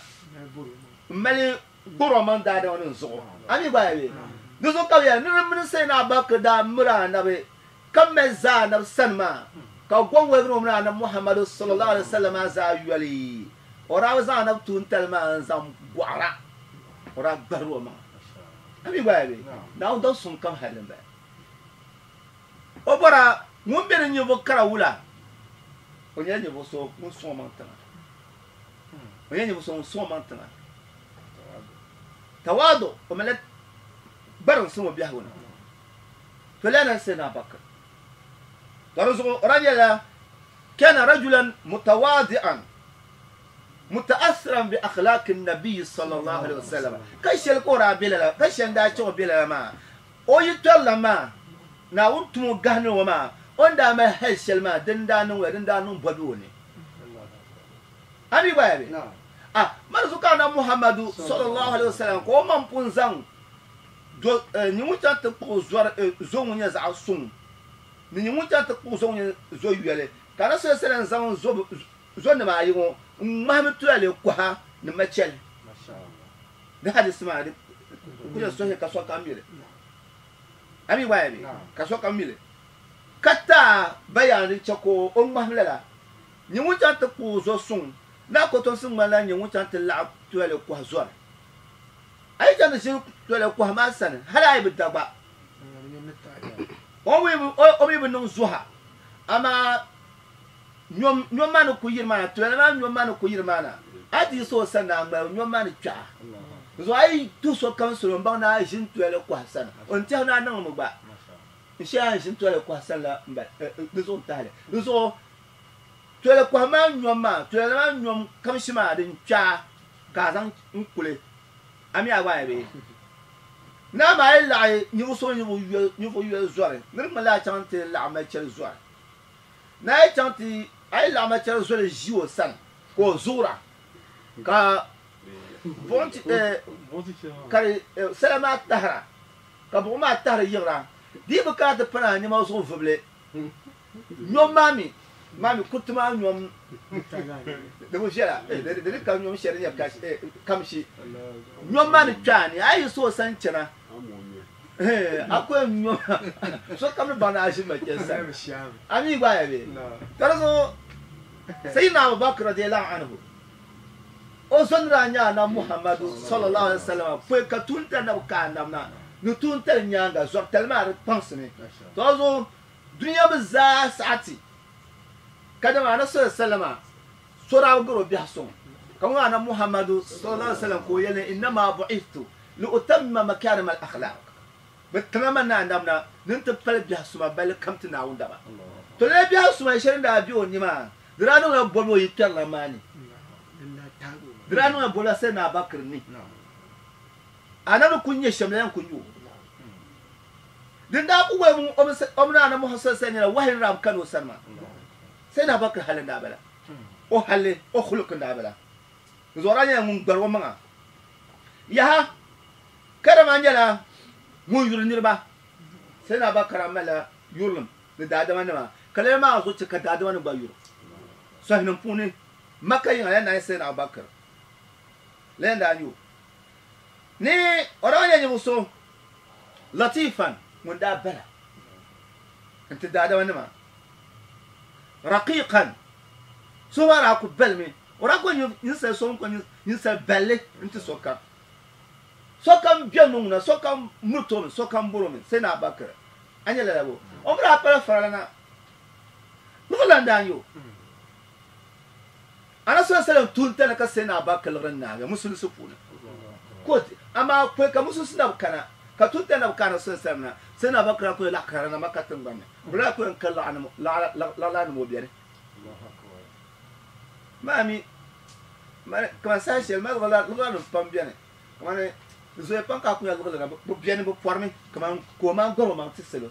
m mali gburi o maŋ daadama nim zuɣu. Ami gbaai bee di zuɣu ka bi yɛli ni di mini sai na Abubakar daa miri anabi ka mali zaa anabi sani maa ka gɔŋ waligiri o mini anabi Muhammadu sallallahu alaihi wasallam maa zaa yoli o daa bi zaŋ anabi tuuntali maa n zaŋ gɔɣira o daa gbahiri o maŋa. Ami gbaai bee Naawuni daŋ suŋ kam hali m-bala. O bɔra ŋun be ni ninvuɣ kara wula o nyɛla ninvuɣ so ŋun sɔŋ o maŋ tiŋa. O nyɛla ninvuɣ so ŋun sɔŋ o maŋ tiŋa. Tawaadu o malila gbariŋsim o biɛhigu ni. To lana Sayyidina Abubakar. To di zuɣu o daa nyɛla kana rajulan mutawadi'an muta'assiran bi akhlaqi nabiy sallallahu alaihi wasallam. Ka shɛli ka o daa be lala ka shɛli daa chaŋ o be lala maa o yi tɔrila maa Naawuni tum o gahindi ŋɔ maa o ni daa mali hali shɛli maa din daa niŋ wula din daa niŋ bɔbi o ni. Ami gba ya be? Ah, mali zuɣu ka Anabi Muhammadu sallallahu alaihi wasallam ka o maŋ pun zaŋ do nyɛ ŋun chaŋ ti kpuɣi zɔri zo ŋun nyɛ zaɣ suŋ ni nyɛ ŋun chaŋ ti kpuɣi zo ŋun nyɛ zo yoli ka Anabi sallallahu alaihi wasallam zaŋ zo nima ayi ŋɔ n ŋmahimi tulale kɔha ni machɛli. Di hadisi maa di ku nyɛ sɔhihi ka sokam mi li. Ami gba ya be? Ka sokam mi li. Ka taa bayaan din chɛ ka o ŋmahim lala nyɛ ŋun chaŋ ti kpuɣi zo suŋ lala kotomsi ŋmanila nyɛ ŋun chaŋ ti laɣim tulale kɔha zɔri. A yi chaŋ ti ʒini tulale kɔha maa sani hali a yi bi da gba o mi bi niŋ zuha amaa nyom maa ni ku yiri maa na tulale maa nyom maa ni ku yiri maa na a ti yiɣisi o sani na a ŋmaligi nyom maa ni kpɛɣa. Zuɣu a yi tuhi sokam salo m-baŋ ni a ʒini tulale kɔha sani o ni tɛhi ni a niŋdimi gba n shɛli a ni ʒini tulale kɔha sani la m-bala di zuɣu n-tahili. Di zuɣu tulale kɔha maa nyom maa tulale maa nyom kamshi maa din kpɛɣa ka a zaŋ n kuli a mi a gba ya bee naa maa yi laɣi ninvuɣ so ninvuɣ yoli zɔri ni di ŋmanila a chaŋ ti laɣim machɛli zɔri ni a yi chaŋ ti a yi laɣim machɛli zɔri ʒi o sani ka o zuɣura ka buɣim ti ka di sala maa tahira ka buɣim maa tahiri yiɣira di yi bi kana ti pana a nɛma zuɣu vubili nyom maa mi maa mi kuriti maa nyom di bi viɛla di di ka nyom shɛli nyɛ kamshi nyom maa ni kpɛ a ni a yi yiɣisi o sani chana a ku yɛn nyom sokam ni baŋ ni a ʒi machɛli sani a mi gba ya bee ka di zuɣu Sayyidina Abubakar radiyallahu anhu o zo ni daa nyɛ Anabi Muhammadu sallallahu alaihi wasallam pɔi ka tuuntali na bi ka Anabi na ni tuuntali nyaaŋa zɔritali maa di kpaŋsimi. To di zuɣu dunia mi zaa saɣati ka dama Anabi sallallahu alaihi wasallam so daa bi gari o biɛhi suŋ ka ŋun Anabi Muhammadu sallallahu alaihi wasallam ka o yɛli ni innama bu'ithtu li utammima makarima al-akhlaq bi tiŋa ma ni Anabi na ni n ti pali biɛhi suma balli kam ti Naawuni daba. To lala biɛhi suma shɛli n daa be o ni maa di daa niŋla bɔbi o yi kpɛrila maa ni. Di daa niŋla bɔbi la Sayyidina Abubakar ni. Anabi ni kuli nyɛ shɛm la yɛn kuli nyɛ o. Din daa ku wali o mini Anabi Muhammad sallallahu alaihi wasallam nyɛla wahayi ni daa bi kani o sani maa. Sayyidina Abubakar hali n daa bala. O hali, o khuluq n daa bala. Di zuɣu daa nyɛla ŋun gbari o maŋa. Yaha, karama nyɛla ŋun yuri niriba. Sayyidina Abubakar malila yurilim ni daadama nima, ka lala maa zuɣu chɛ ka daadama nim gba yuri. Sɔhinim puuni, Makka yiŋa la naai Sayyidina Abubakar la daa nyɛ o. Ni o daa nyɛ ninvuɣ so latifan ŋun daa bala n-ti daadama nima, raqiqan so maa daa ku balimi, o daa ku ninsal so ŋun ku ninsal balli n-ti sokam. Sokam beni ni ŋuna, sokam miriti o mi, sokam bɔri o mi, Sayyidina Abubakar. A nya lala bo? O mi daa pala faralana liɣiri daa nyɛ o. Anabi sallallahu alaihi wasallam tuuntali ka Sayyidina Abubakar liɣiri naagi musulinsi puuni. Ko amaa pɔi ka musulinsi na bi kana, ka tuuntali na bi ka Anabi sallallahu alaihi wasallam na, Sayyidina Abubakar daa kuli laɣ karili na Makka tiŋgbani ni. Bɛ daa kuli yɛn ka laɣilanim o beni. Maa mi, kaman saha shɛli mali liɣilanim pam beni. Kamani zoya pam ka a ku nya liɣiri na, bɛ beni bɛ pɔrimi kaman ka o maŋ gɔri o maŋ ti salo.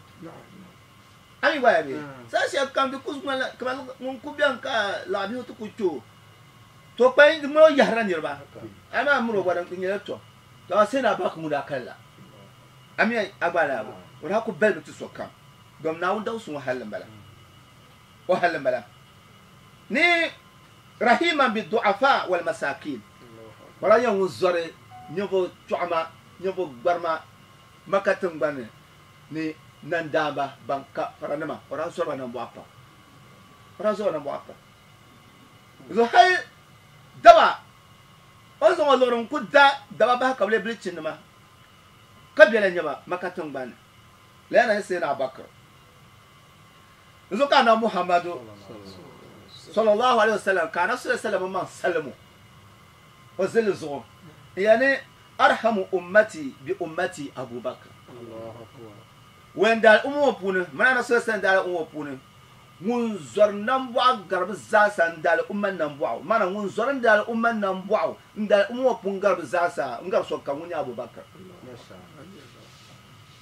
A mi gba ya bee? Saha shɛli kam di ku ŋmanila kaman ŋun ku beni ka laɣibihi ti ku kpe o, to kpain di ŋmani o yɛhirila niriba, amaa miri o gba di nyɛla tɔm. To amaa Sayyidina Abubakar ŋun daa kali la, a mi a gba lala bo? O daa ku balimi ti sokam, dom Naawuni dawusi ŋɔ halli m-bala. O halli m-bala. Ni rahiman bi du'afa wal masakin. O daa nyɛla ŋun zɔri ninvuɣ chɔɣima, ninvuɣ gbarima Maka tiŋgbani ni nandaamba ban ka faranima, o daa zɔri ba nambɔɣu pam. O daa zɔri ba nambɔɣu pam. Zuɣu hali daba, o ni zaŋ o liɣiri n-ku da daba bahi ka bɛ leei bilichinnima, ka bela nyɛba Maka tiŋgbani ni. Lala na nyɛ Sayyidina Abubakar. N zuɣu ka Anabi Muhammadu sallallahu alaihi wasallam ka Anabi sallallahu alaihi wasallam maŋ salimu o zilli zuɣu n yɛli ni arhamu ummati bi ummati Abu Bakr. Wen daali umma ŋɔ puuni, mani Anabi sallallahu alaihi wasallam daali umma ŋɔ puuni, ŋun zɔri nambɔɣu gari bɛ zaasa n daali umma nambɔɣu, maana ŋun zɔri n daali umma nambɔɣu n daali umma ŋɔ puuni gari bɛ zaasa n gari sokam ŋun nyɛ Abu Bakr.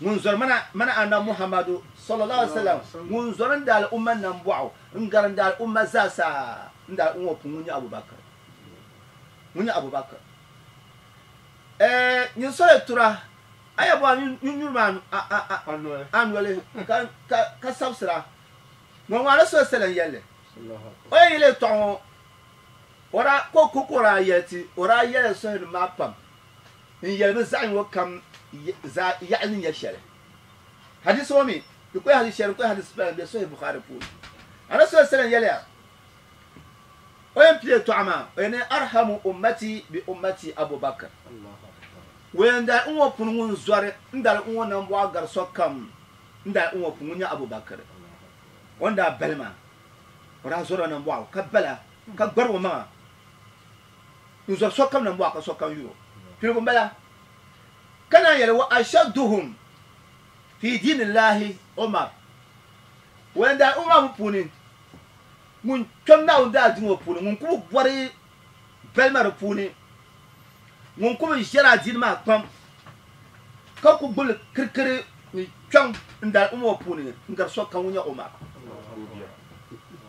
Ŋun zɔri mana, mana Anabi Muhammadu, sallallahu alaihi wasallam, ŋun zɔri n daali umma nambɔɣu n-gari n daali umma zaasa n daali umma ŋɔ puuni ŋun nyɛ Abu Bakr. Ŋun nyɛ Abu Bakr. Ɛɛ, nyin soli tura, a ya bɔhi nyin nyuri maa a noli ka, ka, ka sabisira. Ŋɔ ŋɔ Anabi sallallahu alaihi wasallam yɛlli. O yɛn yɛli yɛltɔɣa ŋɔ, o daa, ko, ko ka o daa yɛli ti, o daa yɛli sɔhinim maa pam. N yɛli bɛ zaɣ yingo kam zaa yaɣili ni nyɛ shɛli. Hadisi ŋɔ mi, di kuli hadisi shɛli, di kuli hadisi pala m-be Sahih Bukhari puuni. Anabi sallallahu alaihi wasallam yɛliya, o yɛn pili yɛltɔɣa maa, o yɛn ni arhamu ummati bi ummati Abu Bakr. Wɛn dali n ŋɔ puuni ŋun zɔri n dali n ŋɔ nambɔɣu gari sokam n dali n ŋɔ puuni ŋun nyɛ Abu Bakr. O ni daa bali maa, o daa zɔrila nambɔɣu ka bala ka gbari o maŋa. N zɔri sokam nambɔɣu ka sokam yur o. Piligu m-bala. Ka naan yɛli, Wa ashadduhum fi diinillahi Umar. Wɛn daa Umar mi puuni, ŋun kpɛm Naawuni daadiini ŋɔ puuni, ŋun ku bi bɔri balima di puuni, ŋun ku bi ʒɛri adiini maa kpam, ka ku gbubi li kirikiri ni kpɛm n-daali Umar ŋɔ puuni n-gari sokam ŋun nyɛ Umar.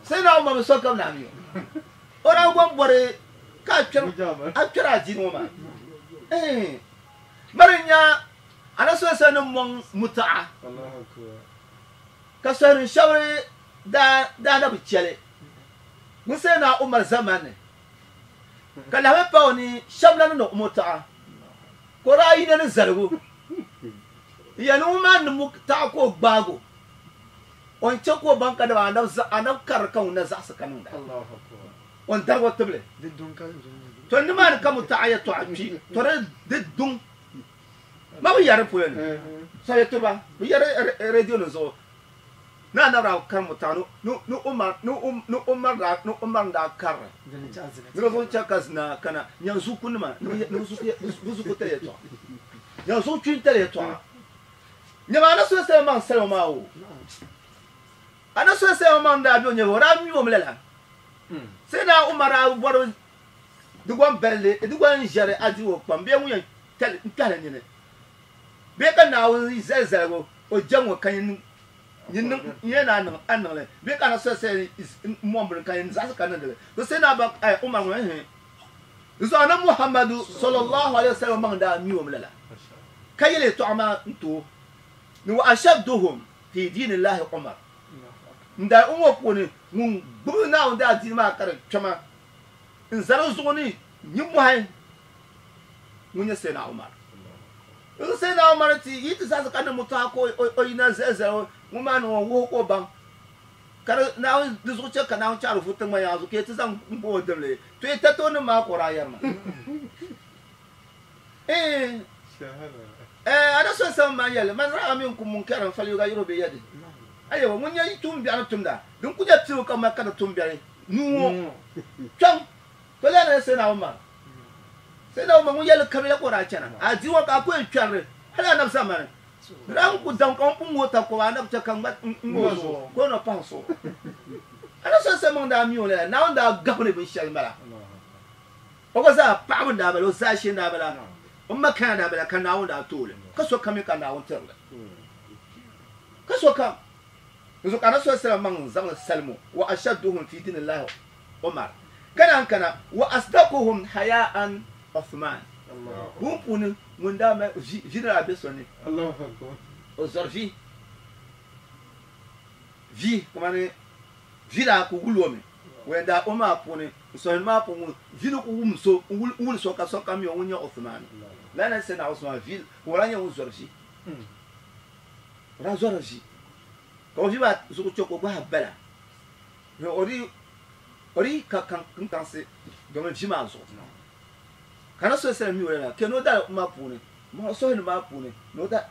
Sayyidina Umar mi sokam naai mi o. O daa gom bɔri ka a kpɛri adiini ŋɔ maa. Mari n-nya Anabi sallallahu alaihi wasallam ni mɔŋ muta'a ka sɔhinim shɛba daa na bi chɛ li ŋun Sayyidina Umar zamani ni, ka lahi pa o ni shɛba na niŋdi muta'a ka o daa yina ni zaligu n-yɛli ni ŋun maa ni muta'a ka o gbaagi o. O ni chɛ ka o baŋ ka dama anabi karili ka ŋun na zaɣisi ka niŋda. O ni darig o tibili. To nimaani ka mutaɣa yɛtɔɣa kpi, to di duŋ ma bi yɛri polo ni. So yɛtɔɣa bi yɛri radio nim zuɣu ni anabi daa kari mutaɣa ni Umar ni Umar n daa karili. Ni di zuɣu chɛ ka zina kana nyanzuku nima ni bi zuku tali yɛtɔɣa. Nyanzuɣu kpin tali yɛtɔɣa. Nyama a ni soli salima maŋ salima maa o. A ni soli salima maŋ daa be o nyɛvili, o daa mi o mi lala. Sai naa Umar daa bɔri di gom balli, di gom ʒɛri a di o kpam bee ŋun yɛn kpɛhili nini bee ka Naawuni zali zaligu o jɛm ŋɔ ka nyin yɛn a niŋ li bee ka a ni soli sali mɔŋ bini ka nyin zaɣisi ka niŋdi li. To sai naa Umar ŋɔ, Ɛɛh. Zuɣu na Muhammadu sallallahu alaihi wasallam maŋ daa mi o mi lala ka yɛli yɛltɔɣa maa n ti o ni wa ashadduhum fi diinillahi Umar n daa o ŋɔ puuni ŋun gbubi Naawuni daadiini maa ka di kpɛma n za di zuɣu ni nimmɔhi ŋun nyɛ Sayyidina Umar. N Sayyidina Umar ti yi ti zaɣisi ka niŋ mutɔɣa ka o yina zali zali o ŋun maa niŋ o wuhi ka o baŋ ka di Naawuni di zuɣu chɛ ka Naawuni chaɣiri vu tiŋgbani yaŋa zuɣu ka yi ti zaŋ m-bo o dimli to yi tati o nim maa ka o daa yɛri ma Eeh eh a na so sani maa yɛli man ra'a minkum munkaran falyughayyirhu biyadihi ayewa ŋun nyɛ yi tuumbiɛɣu ni tumda din ku nyɛ piligu ka mali ka di tumbiɛri nuu ŋɔ kpɛŋ to lana ni Sayyidina Umar Sayyidina Umar ŋun yɛli kabila ka o daa chana a di ŋɔ ka a ku yɛn kpɛrili hali anabi zamani di daa ku daŋ ka ŋun pun ŋɔ takɔba anabi chɛ ka ŋma ŋ-ŋɔ o zuɣu ka o na pahi so anabi sallallahu alaihi wasallam daa mi o lala Naawuni daa gabi ni binshɛli m-bala o gba zaa paɣaba n-daa bala o zaashee n-daa bala o makana daa bala ka Naawuni daa ti o li ka sokam mi ka Naawuni tiri li ka sokam Dinzuɣu ka Anabi sallallahu alaihi wasallam maŋ zaŋ li salim o, wa ashadduhum fi dinillahi Umar, ka naan kana, wa asdaquhum haya'an Uthman. Buŋ puuni ŋun daa mali vi, vi ni daa be so ni, o zɔri vi, vi kamani vi daa ku wuli o mi, o yɛn daa o maa puuni, n sɔhini maa puuni ŋun vi ni ku wum so, n wuli so ka sokam mi o ŋun nyɛ Uthman. Lala ni Sayyidina Usman vi, ka o daa nyɛ ŋun zɔri vi. O daa zɔrila vi, ka o vi maa zuɣu chɛ ka o gbahi bala ni o di ka kinkansi domin vi maa zuɣu. Ka na so sali mi o lala, kɛ ni o dali umma puuni, ma o suhuni maa puuni, ni o da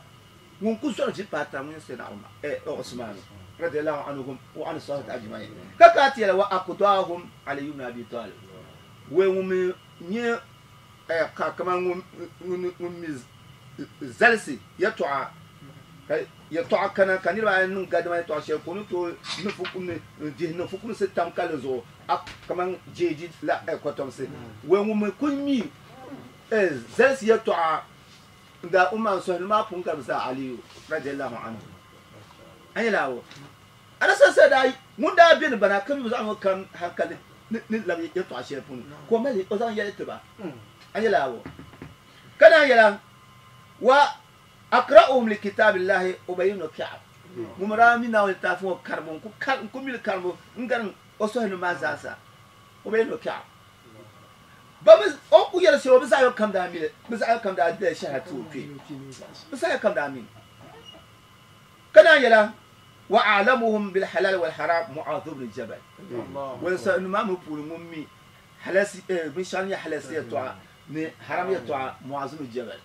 ŋun ku zɔri vi paai taba ŋun nyɛ Sayyidina Umar, Usman radiyallahu anhum wa an sahabati ajma'in. Ka ka ti yɛli wa aqdahum Ali ibn Abi Talib, wee ŋun mi nyɛ ka kaman ŋun mi zalisi yɛtɔɣa ka yɛtɔɣa kana ka niriba ayi niŋ gadama yɛtɔɣa shɛli ka o ni tooi niŋ fukumsi n-dihi niŋ fukumsi tam ka li zuɣu a kaman jeeji la kɔtomsi. Wee ŋun mi kul mi zalisi yɛtɔɣa n-daa Umar n-sɔhili maa pun ka bɛ zaa Aliyu radiyallahu anhu. A nyɛla awɔ. A ni sansaya daa ŋun daa beni bana ka mi bi zaŋ ŋɔ kam hankali ni labi yɛtɔɣa shɛli puuni ka o mali o zaŋ yɛli ti ba. A nyɛla awɔ. Ka naan yɛla, Wa aqra'uhum li kitabillahi Ubay ibn Ka'b, ŋun mi daa mi Naawuni litaafi ŋɔ karimbu n-ku mi li karimbu n-gari o sɔhinim maa zaasa, Ubay ibn Ka'b. Ba mi o ni ku yɛli shɛli o bi zaɣ yɔ kam daa mi li, bɛ zaɣ yɔ kam daa dila shɛhira ti o kpee, bɛ zaɣ yɔ kam daa mi li. Ka naan yɛla, Wa a'lamuhum bil halal wal haram Mu'adh ibn Jabal, wani sɔhinim maa mi puuni ŋun mi halasi, binshɛɣu ni nyɛ halasi yɛltɔɣa ni haram yɛltɔɣa Mu'az ibn Jabal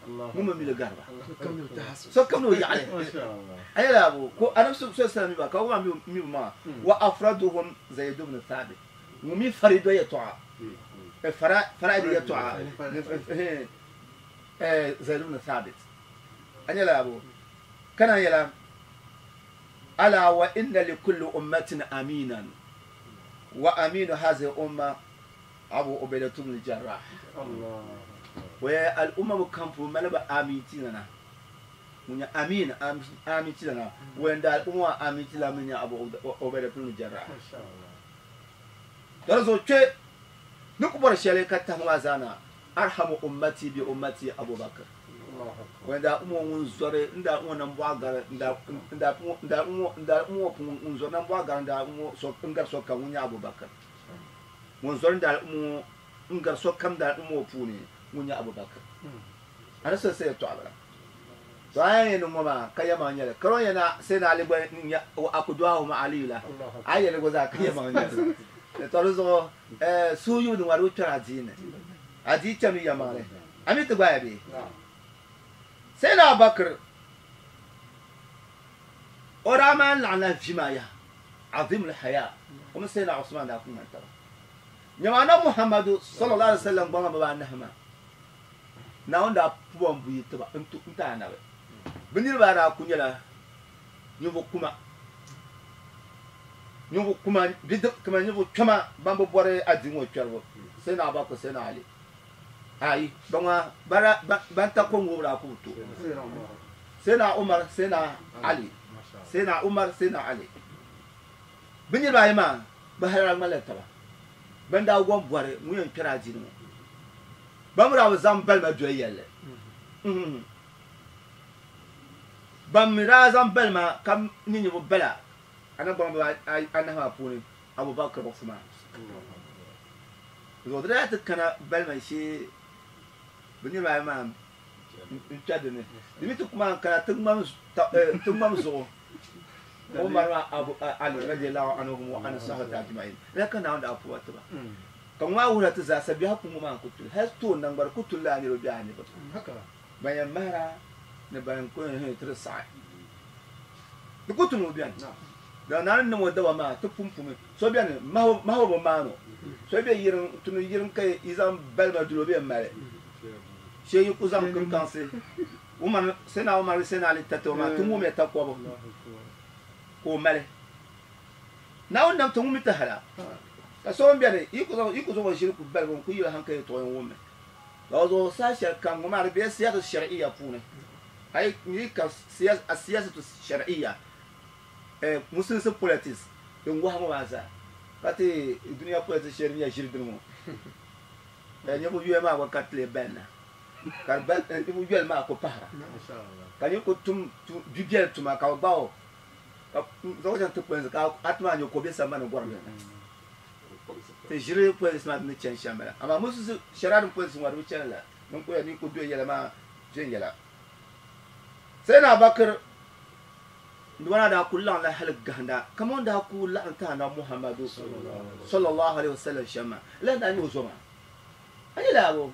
ŋun mi mi li gari ba. Sokam ni o yaɣili. A yɛla abu ko Anabi sallallahu alaihi wasallam mi ba ka o gba mi bi maŋa. Wa afraduhum Zayd ibn Thabit ŋun mi farido yɛltɔɣa faraid yɛltɔɣa Zayd ibn Thabit. A yɛla abu ka naan yɛla ala wa inna li kulli ummatin aminan wa aminu hazihi umma Abu Ubaida ibn Jarrah. O yɛli al'umma ŋɔ kam puuni mali ba amintilana. Ŋun nyɛ amin, amintilana. O yɛn daa al'umma maa amintilana mi nyɛ Abu Ubaida ibn Jarrah. Di zuɣu kpe ni ku bɔri shɛli ka tahi maa zaa na, Arhamu ummati bi ummati Abu Bakr. O yɛn daa al'umma ŋɔ ŋun zɔri n daa al'umma nambɔɣu gari n daa n daa al'umma ŋɔ puuni ŋun zɔri nambɔɣu gari n daa al'umma ŋɔ n gari sokam ŋun nyɛ Abu Bakr. Ŋun zɔri n-daali umma ŋɔ n-gari sokam daali umma ŋɔ puuni ŋun nyɛ Abu Bakr. A ni soli sa yɛltɔɣa bala. To a yɛn yɛli ŋɔ maa ka yɛmaŋ nyɛli. Ka o yɛn na Sayyidina Ali gba n-nyɛ wa aqduahum Aliyu la, a yi yɛli gba zaa ka yɛmaŋ nyɛli. To di zuɣu suhuyubu din ŋɔ di bi kpɛri adiini ni. Adii chami yɛmaŋli. A mi ti gbaaya bee? Sayyidina Abu Bakr o daa maan laɣimla vi maa yaha. Azimul haya, o mini Sayyidina Usman daa ku ŋmani taba. Nyama Anabi Muhammadu sallallahu alaihi wasallam gbaŋ bibaanahi maa, Naawuni daa pu ba m-buyi ti ba n-ti Anabi. Bɛ niriba daa ku nyɛla ninvuɣ kuma, ninvuɣ kuma bidib kamani ninvuɣ kpɛma ban bi bɔri adiini ŋɔ kpɛribu, Sayyidina Abubakar, Sayyidina Ali. Ayi, ba ŋɔ ban ta ko ŋoobu daa ku bi tooi. Sayyidina Umar, Sayyidina Ali. Sayyidina Umar, Sayyidina Ali. Bɛ niriba ayi maa, bɛ hali daa ŋmanila taba. Ban daa gom bɔri ŋun yɛn kpɛri adiini ŋɔ. Ban mi daa bi zaŋ balima doli yɛlli. Ban mi daa zaŋ balima ka nyɛ ninvuɣ bala anabi gbaŋ anahi maa puuni, Abubakar Usman. Zuɣu di daa ti kana balima shee bɛ niriba ayi maa n-kpɛri di ni. Di mi ti ku maan kana ti ŋmam zuɣu Umar maa Abu Ali radiyallahu anhum wa an sahabati ajma'in. Lala ka Naawuni daa puhi ba ti ba. Ka ŋɔ maa wuhira ti zaasa biɛhigu kum ŋɔ maa n-ku tuli. Hali toon naŋgbari ku tuli lala niriba biɛhi niriba. Ban yɛn mahira ni ban ku yɛn ti di saɣi. Di ku tuli ŋɔ beni. Dama Naawuni ni niŋ o daba maa ti pumpumi. So beni mahibu bi maan o. So be yiriŋ, tuni yiriŋ ka yi zaŋ balima duli o bee m-mali. Shee yi ku zaŋ kinkaŋsi Umar, Sayyidina Umar bee Sayyidina Ali tati o maa ti ŋumiya takɔbu ka o mali. Naawuni nam ti ŋumi ti hala. Ka so m-beni yi ku zaŋ yi ku zaŋ o ʒili ku baligi o n-ku yili hankali yɛltɔɣa yɛn wummi. Ka o zuɣu saha shɛli kam ŋɔ maa di bela siyasa shar'iyya puuni. A yi yi ka siyasatu shar'iyya musulinsi politics din wahi ŋɔ maa zaa ka ti dunia politics shɛli din nyɛ ʒiri dini ŋɔ. Ninvuɣ yoya maa gba ka ti lee balina, ka di bali ninvuɣ yoli maa ku pahira, ka nir ku tum bibiɛli tuma ka bɛ gbaag o ka zaŋ o chaŋ ti polinsi ka a ti maa nya ka o be sambani gɔrim ni. Ti ʒiri polinsi maa ni chani shɛm bala, amaa musulinsi shɛra din polinsi ŋɔ di bi chani la, din ku yɛli ni ku do yɛla maa viɛnyɛla. Sayyidina Abubakar Niriba daa kuli laɣimla hali gahinda kaman o ni daa kuli laɣim ti Anabi Muhammadu sallallahu alaihi wasallam shɛm maa. Lala n-daa nyɛ o zo maa. A nyɛ laabu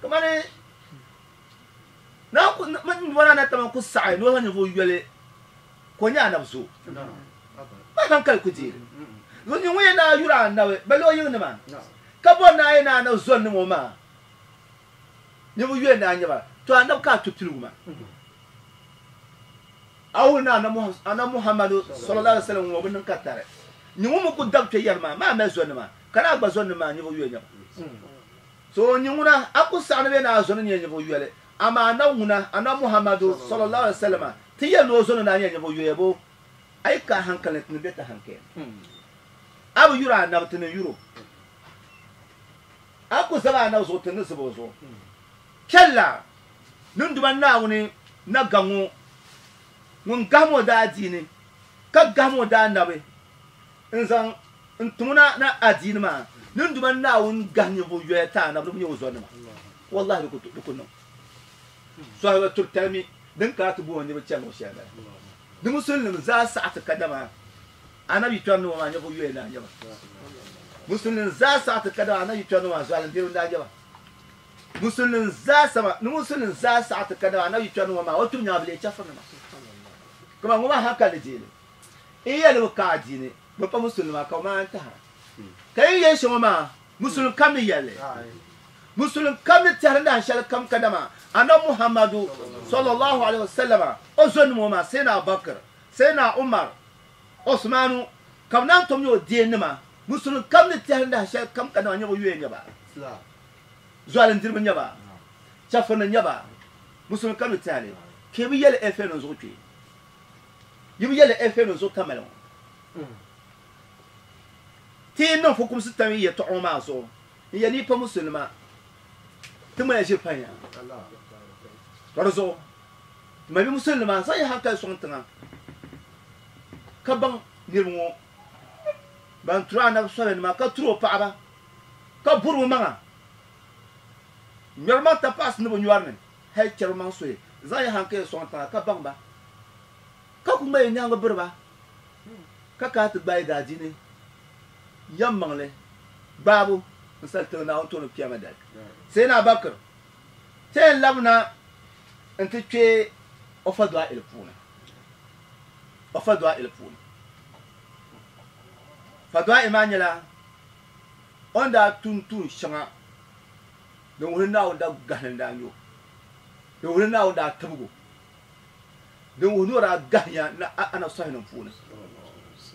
kamani niriba maa na tama ku saɣi ni o zaŋ ninvuɣ yoli ka o nyɛ Anabi zo. Ba hankali ku deei li. Zuɣu nyin ŋun yɛn daa yuri Anabi ba lo yiŋnima ka bɔri ni a yɛn ni Anabi zɔnnim o maa ninvuɣ yoli n-daa nyɛ ba. To Anabi ka a tu piligu maa. A wuhi ni Anabi Muhammadu sallallahu alaihi wasallam ŋɔ bi niŋ ka tari. Nyin ŋun mi ku dab kpe yɛri maa, maa mali zɔnima, ka ni a gba zɔnnim maa ninvuɣ yoli nyɛba. So nyin ŋuna, a ku saɣi ni bɛ ni a zɔni nyɛ ninvuɣ yoli, amaa Anabi ŋuna, Anabi Muhammadu sallallahu alaihi wasallam, ti yɛli ni o zɔni daa nyɛ ninvuɣ yoya bo? A yi ka a hankali ni, ti ni be ti hankali ni. A bi yuri Anabi, ti ni yuri o. A ku zabi Anabi zuɣu, ti ni zab o zuɣu. Chɛlila ninduma Naawuni na gaŋ o, ŋun gahim o daadiini, ka gahim o daanabi n-zaŋ n-tim o na na adiini maa. Ninduma Naawuni gahi ninvuɣ yoya ti anabi ni bɛ nyɛ o zɔnima. Wallahi di ku niŋ. Sɔhiba turitali mi din kana ti booni niriba chani luɣ shɛli bala. Di musulinima zaa saɣi ti kadama anabi yi kpɛri nima maa ninvuɣ yoya n-daa nyɛ ba. Musulinima zaa saɣi ti kadama anabi yi kpɛri nima maa zualindiriba n-daa nyɛ ba. Musulin zaa sama ni musulin zaa saɣi ti kadama anabi yi kpɛri ni ŋɔ maa o kpibu nyaŋa bi leei chɛfurinima. Kaman ŋɔ maa hankali ni deeli n yɛli ni bi ka adiini bi pa musulinima ka bi maan tahira. Ka yi yɛli shɛŋa maa musulin kam ni yɛli li. Musulin kam ni tɛhiri dahin shɛli kam kadama anabi Muhammadu sallallahu alaihi wasallama o zonima ŋɔ maa Sayyidina Abubakar, Sayyidina Umar, Osmanu ka bi naan tom nyɛ o deenima. Musulin kam ni tɛhiri dahin shɛli kam kadama nyɛ bi yuya nyɛ ba. Zualindiriba n-nyɛ ba, chɛfirinim n-nyɛ ba, musulimi kam ni tɛha li, ka yi bi yɛli Ɛfɛnu n zuɣu kpe. Yi bi yɛli Ɛfɛnu n zuɣu tamali ŋɔ. Ti yi niŋ fukumsi tam yi yɛtɔɣa ŋɔ maa zuɣu, n yɛli ni yi pa musulinima, ti ŋmaya ʒiri panya. Ka di zuɣu, ti mali musulinima zaŋ yi hankali sɔŋ tiŋa ka baŋ niriba ŋɔ ban turi anabi sɔlinima ka turi o paɣaba. Ka buri o maŋa ŋmɛri maŋ tapaɣisi ni bɛ nyɔri ni, hal chɛri bɛ maŋ suhi zaŋ yi haŋkaya sɔŋ tiŋa ka baŋ ba, ka ku ŋma yi nyaaŋa biri ba, ka kana ti gbaai daadiini yɛmmaŋli gbaabu n-sali tiŋ Naawuni tooni kpɛma dali. Sayyidina Abubakar ti yɛn labina nti kpe o fadɔa'il puuni, o fadɔa'il puuni. Fadɔa'il maa nyɛla O ni daa tum tuun shɛŋa din wuhi ni Naawuni daa gahili n-daa nya o, din wuhi ni Naawuni daa tibig o, din wuhi ni o daa gahiya ni Anabi sɔhinim puuni,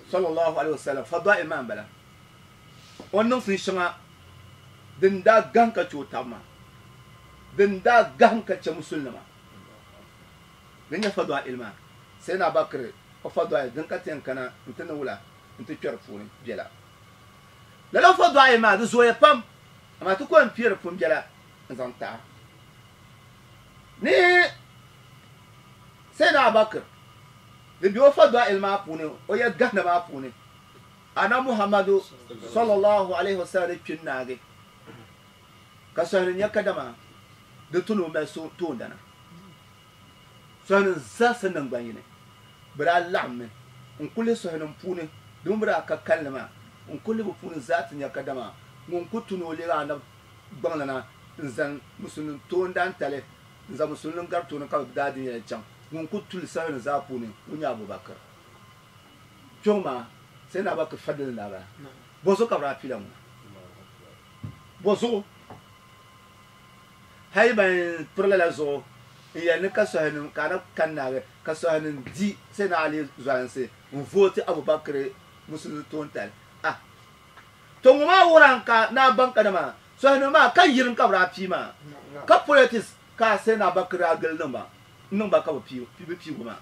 sallallahu alaihi wasallam, fadail maa m-bala. O ni niŋ tuun shɛŋa din daa gahim ka chɛ o taba maa, din daa gahim ka chɛ musulinima, din nyɛ fadail maa, Sayyidina Abubakar o fadail din ka ti yɛn kana nti ni wula nti kpe di puuni bela. Lala fɔdɔɣi maa di zooya pam, amaa ti ko n-piɛri pun biɛla n zaŋ taɣa ni Sayyidina Abubakar di be o fadail maa puuni, o yɛli gahina maa puuni, Anabi Muhammadu sallallahu alaihi wasallam ni kpi n-naagi, ka sɔhili nya kadama di tu ni o mali so toondana. Sɔhinim zaasa naŋgban yini bɛ daa laɣimmi n-kuli lihi sɔhinim puuni domin bɛ daa ka kalinli maa n-kuli lihi bɛ puuni zaa ti nya kadama ŋun ku tu ni o leegi Anabi gbaŋlana n-zani Musulimi toondantali n-zaŋ Musulimi gari tooni ka bɛ daa di yɛli chaŋ ŋun ku tuli sɔhinim zaa puuni ŋun nyɛ Abu Bakr. Kpiɔŋ maa Sayyidina Abu Bakr fadili n-daa bala. Bɔzuɣu ka bɛ daa pila ŋuna? Bɔzuɣu? Hali ban piri lala zuɣu n-yɛli ni ka sɔhinim ka a na kani naagi ka sɔhinim di Sayyidina Ali zualinsi n-vooti Abu Bakr musulimi toontali. Ah! To ŋɔ maa wuhiran ka naa baŋ kadama sɔhinim maa ka yirim ka bɛ daa pii maa ka politics ka Sayyidina Abu Bakr daa gili niŋ ba n-niŋ ba ka bɛ pii bɛ piigu maa.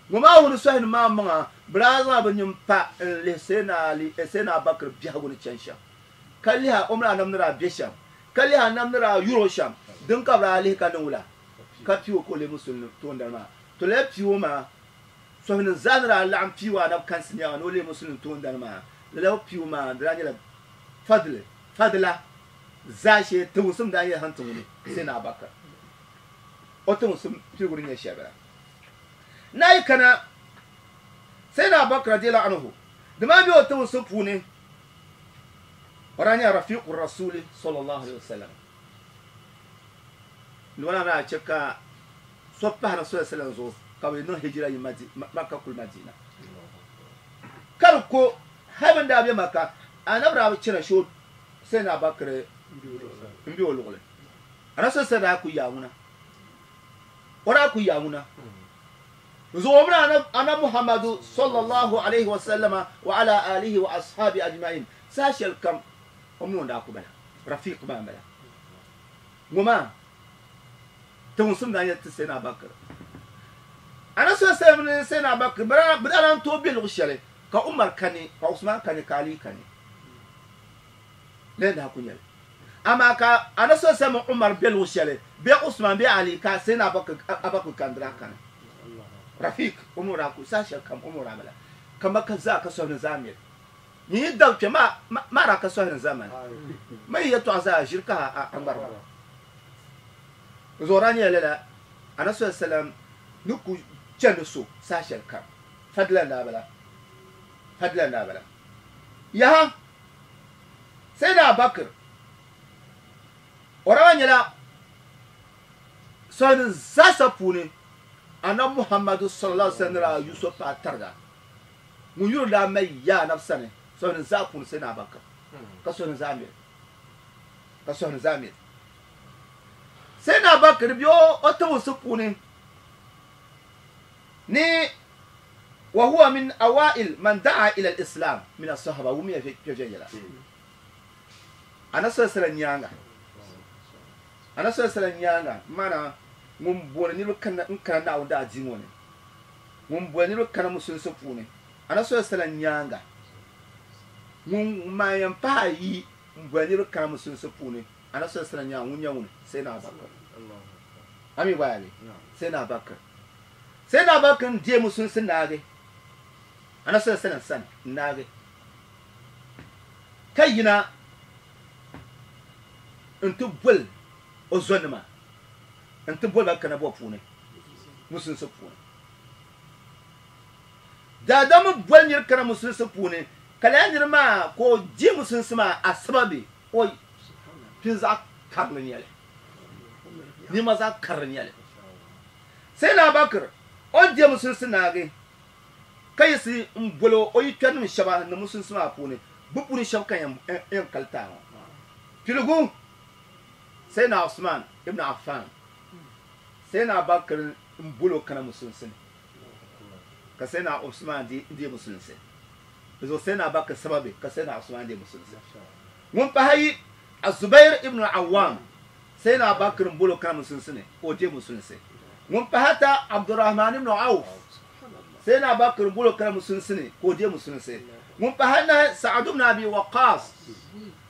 Ŋɔ maa wuhi ni sɔhinim maa maŋa bɛ daa zaŋla bɛ nini pa n-lihi Sayyidina Ali Sayyidina Abu Bakr biɛhigu ni chani shɛm. Ka lihi a o mini a nam ni daa be shɛm, ka lihi a nam ni daa yur o shɛm, din ka bɛ daa lihi ka niŋ wula? Ka pii o ka o leei musulimi toondana maa. To lala pii o maa, sɔhinim zaa ni daa laɣim pii o anabi kansi nyaŋa ni o leei musulimi toondana maa, lala pii o maa di daa nyɛla fadli, fadila, zaashee tiŋsim daa nyɛla haŋ ti ŋuni Sayyidina Abubakar. O tiŋsim piligu ni nyɛ shɛli bala. Nayi kana Sayyidina Abubakar radiyallahu anhu, di maa be o tiŋsim puuni. O daa nyɛla Rafiqu Rasuli sallallahu alayhi wa sallam. Ni o daa chɛ ka so pahi Rasul sallam zuɣu ka bɛ niŋ hijira yi Makka kuli Madina. Ka di ko hali bɛ ni daa be Makka, Anabi daa bi chana shee Sayyidina Abubakar m-be o luɣili. Rasul sallam daa kuli yaa ŋuna. O daa kuli yaa ŋuna. Zuɣu mini Anabi Muhammadu sallallahu alayhi wa sallama wa ala alihi wa ashabi ajma'in saha shɛli kam o mini o ni daa ku bala, Rafiq maa m-bala. Ŋɔ maa tiŋsim daa nyɛla ti Sayyidina Abubakar. Anabi sallallahu alayhi wa sallam mini Sayyidina Abubakar bɛ daa lahi tooi be luɣ shɛli ka Umar kani, ka Usman kani, ka Ali kani. Lala daa ku nyɛli. Amaa ka Anabi sallallahu alayhi wa sallam mini Umar be luɣ shɛli, bee Usman bee Ali, ka Sayyidina Abubakar kandira kani. Rafiq, o mi o daa ku saha shɛli kam o mi o daa bala. Ka Makka zaa ka sɔhini zaa miri. Nyin yi dabi kpe maa daa ka sɔhini zaa mani. Ma yi yɛtɔɣa zaa ʒiri ka a ŋmari ba. Zuɣu daa nyɛla lala Anabi sallallahu alayhi wa sallam ni ku chandi so saha shɛli kam. Fadila n-daa bala. Fadila n-daa bala. Yaha! Sayyidina Abubakar o daa nyɛla sɔhini zaasa puuni Anabi Muhammadu sallallahu alaihi wasallam ni daa yu so paai tariga. Ŋun yuri daa mali yaa Anabi sani sɔhini zaa puuni Sayyidina Abubakar ka sɔhini zaa miri ka sɔhini zaa miri. Sayyidina Abubakar bɛ o tiŋsi puuni ni Wa huwa min awail man da'a ila al-islam min as-sahaba wumiya kpe viɛnyɛla Anabi sallallahu alaihi wasallam nyaaŋa. Anabi sallallahu alaihi wasallam nyaaŋa maana ŋun boli niriba kana n-kana Naawuni daadiini ŋɔ ni, ŋun boli niriba kana musulinsi puuni Anabi sallallahu alaihi wasallam nyaaŋa, ŋun maan yɛn pahi ayi m-boli niriba kana musulinsi puuni Anabi sallallahu alaihi wasallam nyaaŋa ŋun nyɛ ŋuni? Sayyidina Abubakar. A mi gba yaa bee? Sayyidina Abubakar. Sayyidina Abubakar n-deei musulinsi naagi Anabi sallallahu alaihi wasallam sani n-naagi ka yina n-ti boli o zonima n-ti boli ba kana bɔ puuni musulinsi puuni. Daadam mi boli niri kana musulinsi puuni ka lala niri maa ka o deei musulinsi maa asibabi o pini zaɣ karili n-nyɛ li, nima zaɣ karili n-nyɛ li. Sayyidina Abubakar o ni deei musulinsi naagi ka yiɣisi m-boli o yikpɛrinim shɛba ni musulinsi maa puuni, bɛ puuni shɛba ka yɛn kali taai ŋɔ. Piligu, Sayyidina Usman ibn Affan, Sayyidina Abubakar m-boli o kana musulinsi ni ka Sayyidina Usman deei musulinsi. Di zuɣu Sayyidina Abubakar sababi ka Sayyidina Usman deei musulinsi. Ŋun pahi ayi, Az-Zubair ibn al-Awwam, Sayyidina Abubakar m-boli o kana musulinsi ni ka o deei musulinsi. Ŋun pahi ata, Abdurrahman ibn Awf, Sayyidina Abubakar m-boli o kana musulinsi ni ka o deei musulinsi. Ŋun pahi anahi, Sa'ad ibn Abi Waqqas,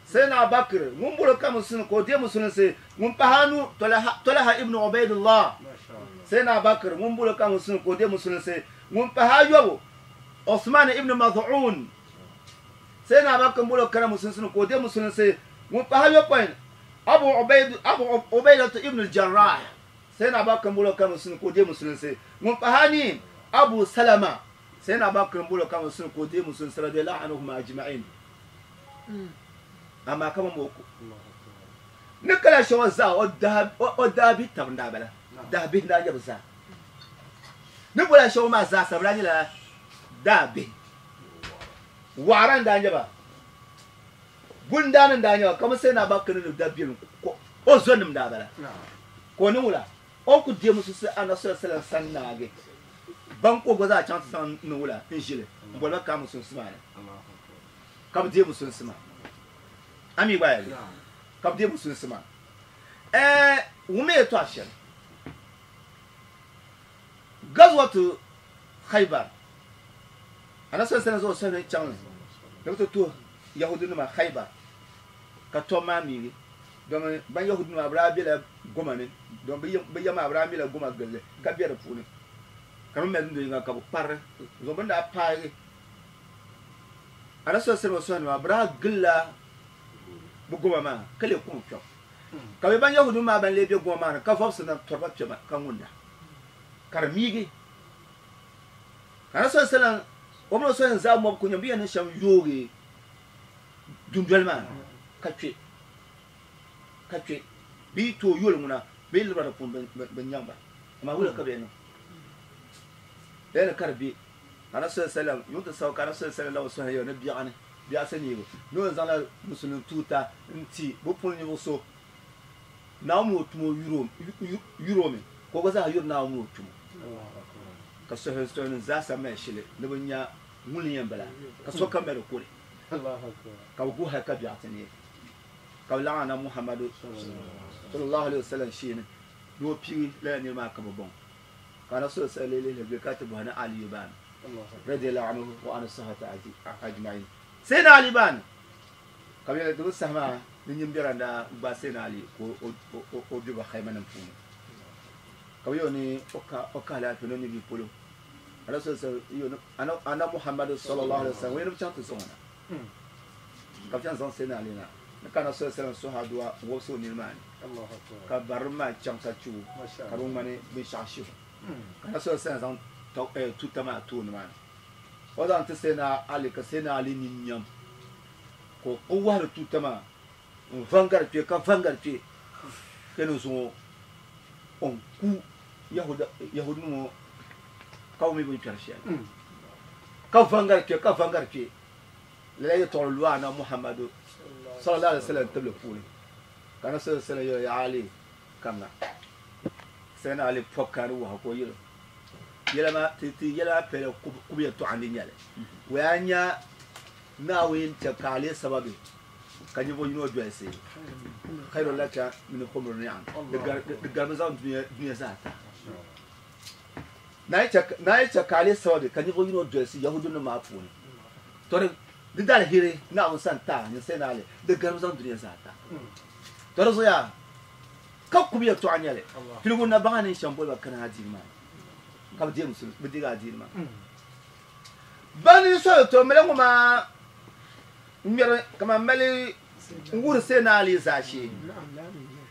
Sayyidina Abubakar ŋun bolo ka musulun ka o deei musulinsi ŋun pahi anu Talha ibn Ubaidullah. Sayyidina Abubakar ŋun bolo ka musulun ka o deei musulinsi ŋun pahi ayɔbu Uthman ibn Maz'un. Sayyidina Abubakar bolo kana musulinsi ni ka o deei musulinsi ŋun pahi ayɔpɔin Abu Ubaid Abu Ubaidatu ibn al-Jarrah. Sayyidina Abubakar bolo ka musulun ka o deei musulinsi ŋun pahi anii Abu Salama. Sayyidina Abubakar bolo ka musulun ka o deei musulinsi radiyallahu anhum ajma'in. Amaa ka bɛ mo o ni kala shɛŋa zaa o daa bihi tab n-daa bala, daa bihi n-daa nyɛ bɛ zaa. Ni boli shɛŋa maa zaa sa bɛ daa nyɛla daa bihi. Waɣira n-daa nyɛ ba, bundaani n-daa nyɛ ba, kamani Sayyidina Abubakar ni dabiɛlim o zɔnim n-daa bala. Ka o niŋ wula? O ni ku deei musulinsi Anabi sallallahu alaihi wasallam sani naagi, ban ka o gba zaa chaŋ ti zaŋ niŋ wula n-ʒili m-boli ba kaai musulinsi maa ni. Ka bɛ deei musulinsi maa. A mi gba yɛli ka bɛ deei musulinsi maa. Ɛɛ wummi yɛtɔɣa shɛli. Gazwatu Khaybar, Anabi sallallahu alaihi wasallam zaŋ o sahibe chaŋ ni bɛ ti tuhi Yahudinima Khaybar ka tɔbu maa miigi. Domi ban Yahudinima bɛ daa bela goma ni, domi bɛ ya maa bɛ daa mɛla goma gilli ka be di puuni ka bɛ mali dundo yiŋga ka bɛ kparili zuɣu bɛ ni daa paagi Anabi sallallahu alaihi wasallam bɛ daa gilila bɛ goma maa ka leei kɔŋ kpɛbu. Ka bɛ ban Yahudinim maa ban lee be goma maa ni ka vɔbisi na tɔri ba kpɛma ka ŋunda ka di miigi. Ka Anabi sallallahu alaihi wasallam o mini o sɔhini zaa mɔbu ku nya bɛ yɛn niŋ shɛm yoogi dundoli maa ni ka kpe ka kpe bɛ yi tooi yoli ŋuna bɛ yi libira di puuni bɛ nyaŋ ba. Amaa wula ka bɛ yɛn niŋ? Lala ni ka di be. Anabi sallallahu alaihi wasallam yuŋ ti sabi ka Anabi sallallahu alaihi wasallam lahi suhi yɛli ni biɛɣuni biɛɣusi neebu ni o ni zaŋla musulin tuuta n-ti bɛ puuni ninvuɣ so Naawuni mini o tumo yuri o mi ka o gba zaa yuri Naawuni mini o tumo. Ka suhuyunim zaa sa mali shili ni bɛ nya ŋuni yɛn bala ka sokam mali kuli ka bɛ guhi hal ka biɛɣu ti neei ka bɛ laɣim Anabi Muhammadu sallallahu alaihi wasallam sheeni ni o piigi lala niriba maa ka bɛ bɔŋ. Ka Anabi sallallahu alaihi wasallam ka ti bɔhi ni Aliyu baani radiyallahu anhu wa an sahabati ajma'in. Sayyidina Ali baani ka bɛ yɛli di bi saha maa ni nyin biɛra n-daa gbaai Sayyidina Ali ka o be ba khaymanim puuni ka bɛ yɛli o ni o ka alaafee ni o nyɛ bia polo. Anabi sallallahu alaihi wasallam yɛli o ni Anabi Muhammadu sallallahu alaihi wasallam o yɛli ni bɛ chaŋ ti zaŋ o na ka bɛ chaŋ zaŋ Sayyidina Ali na ni ka Anabi sallallahu alaihi wasallam suhi adua n-wobisi o nini maa ni ka barilim maa chaŋ ka chɛ o ka di ŋmani binshɛɣu shihu. Ka Anabi sallallahu alaihi wasallam zaŋ tuuta maa ti o nimaani. O zaŋ ti Sayyidina Ali ka Sayyidina Ali nini nyam ka o wahiri tuuta maa n-vaŋgari kpe ka vaŋgari kpe ka ni zuŋɔ o ni ku Yahudinim ŋɔ ka bɛ mi bɛ ni kpɛri shɛli ka vaŋgari kpe ka vaŋgari kpe. Lala yɛtɔɣili lu Anabi Muhammadu sallallahu alaihi wasallam tibili puuni ka Anabi sallallahu alaihi wasallam yɛli, Ya Ali, kamina. Sayyidina Ali pɔbi ka di wahu ka o yɛli o, Yɛla maa, ti, ti yɛla maa pɛla kubu yɛtɔɣa n-di nyɛli. Waya a nya Naawuni chɛ ka a leei sababi ka ninvuɣ yino dolisi khairun laka min humri ni'am, di garimi zaŋ dunia zaa ta. Naawuni chɛ ka a leei sababi ka ninvuɣ yino dolisi Yahudinim maa puuni. Tɔ di dalihiri Naawuni sani taai ninsal naali, di garimi zaŋ dunia zaa ta. Tɔ di zuɣuya ka kubu yɛtɔɣa nyɛli, piligu na baŋa ni shɛm boli ba kana adiini maa ni, ka bɛ deei musulunsi, bɛ deegi adiini maa. Bani soli tɔ mali ŋɔ maa ŋmɛri kaman mali n-wuhiri Sayyidina Ali zaashee.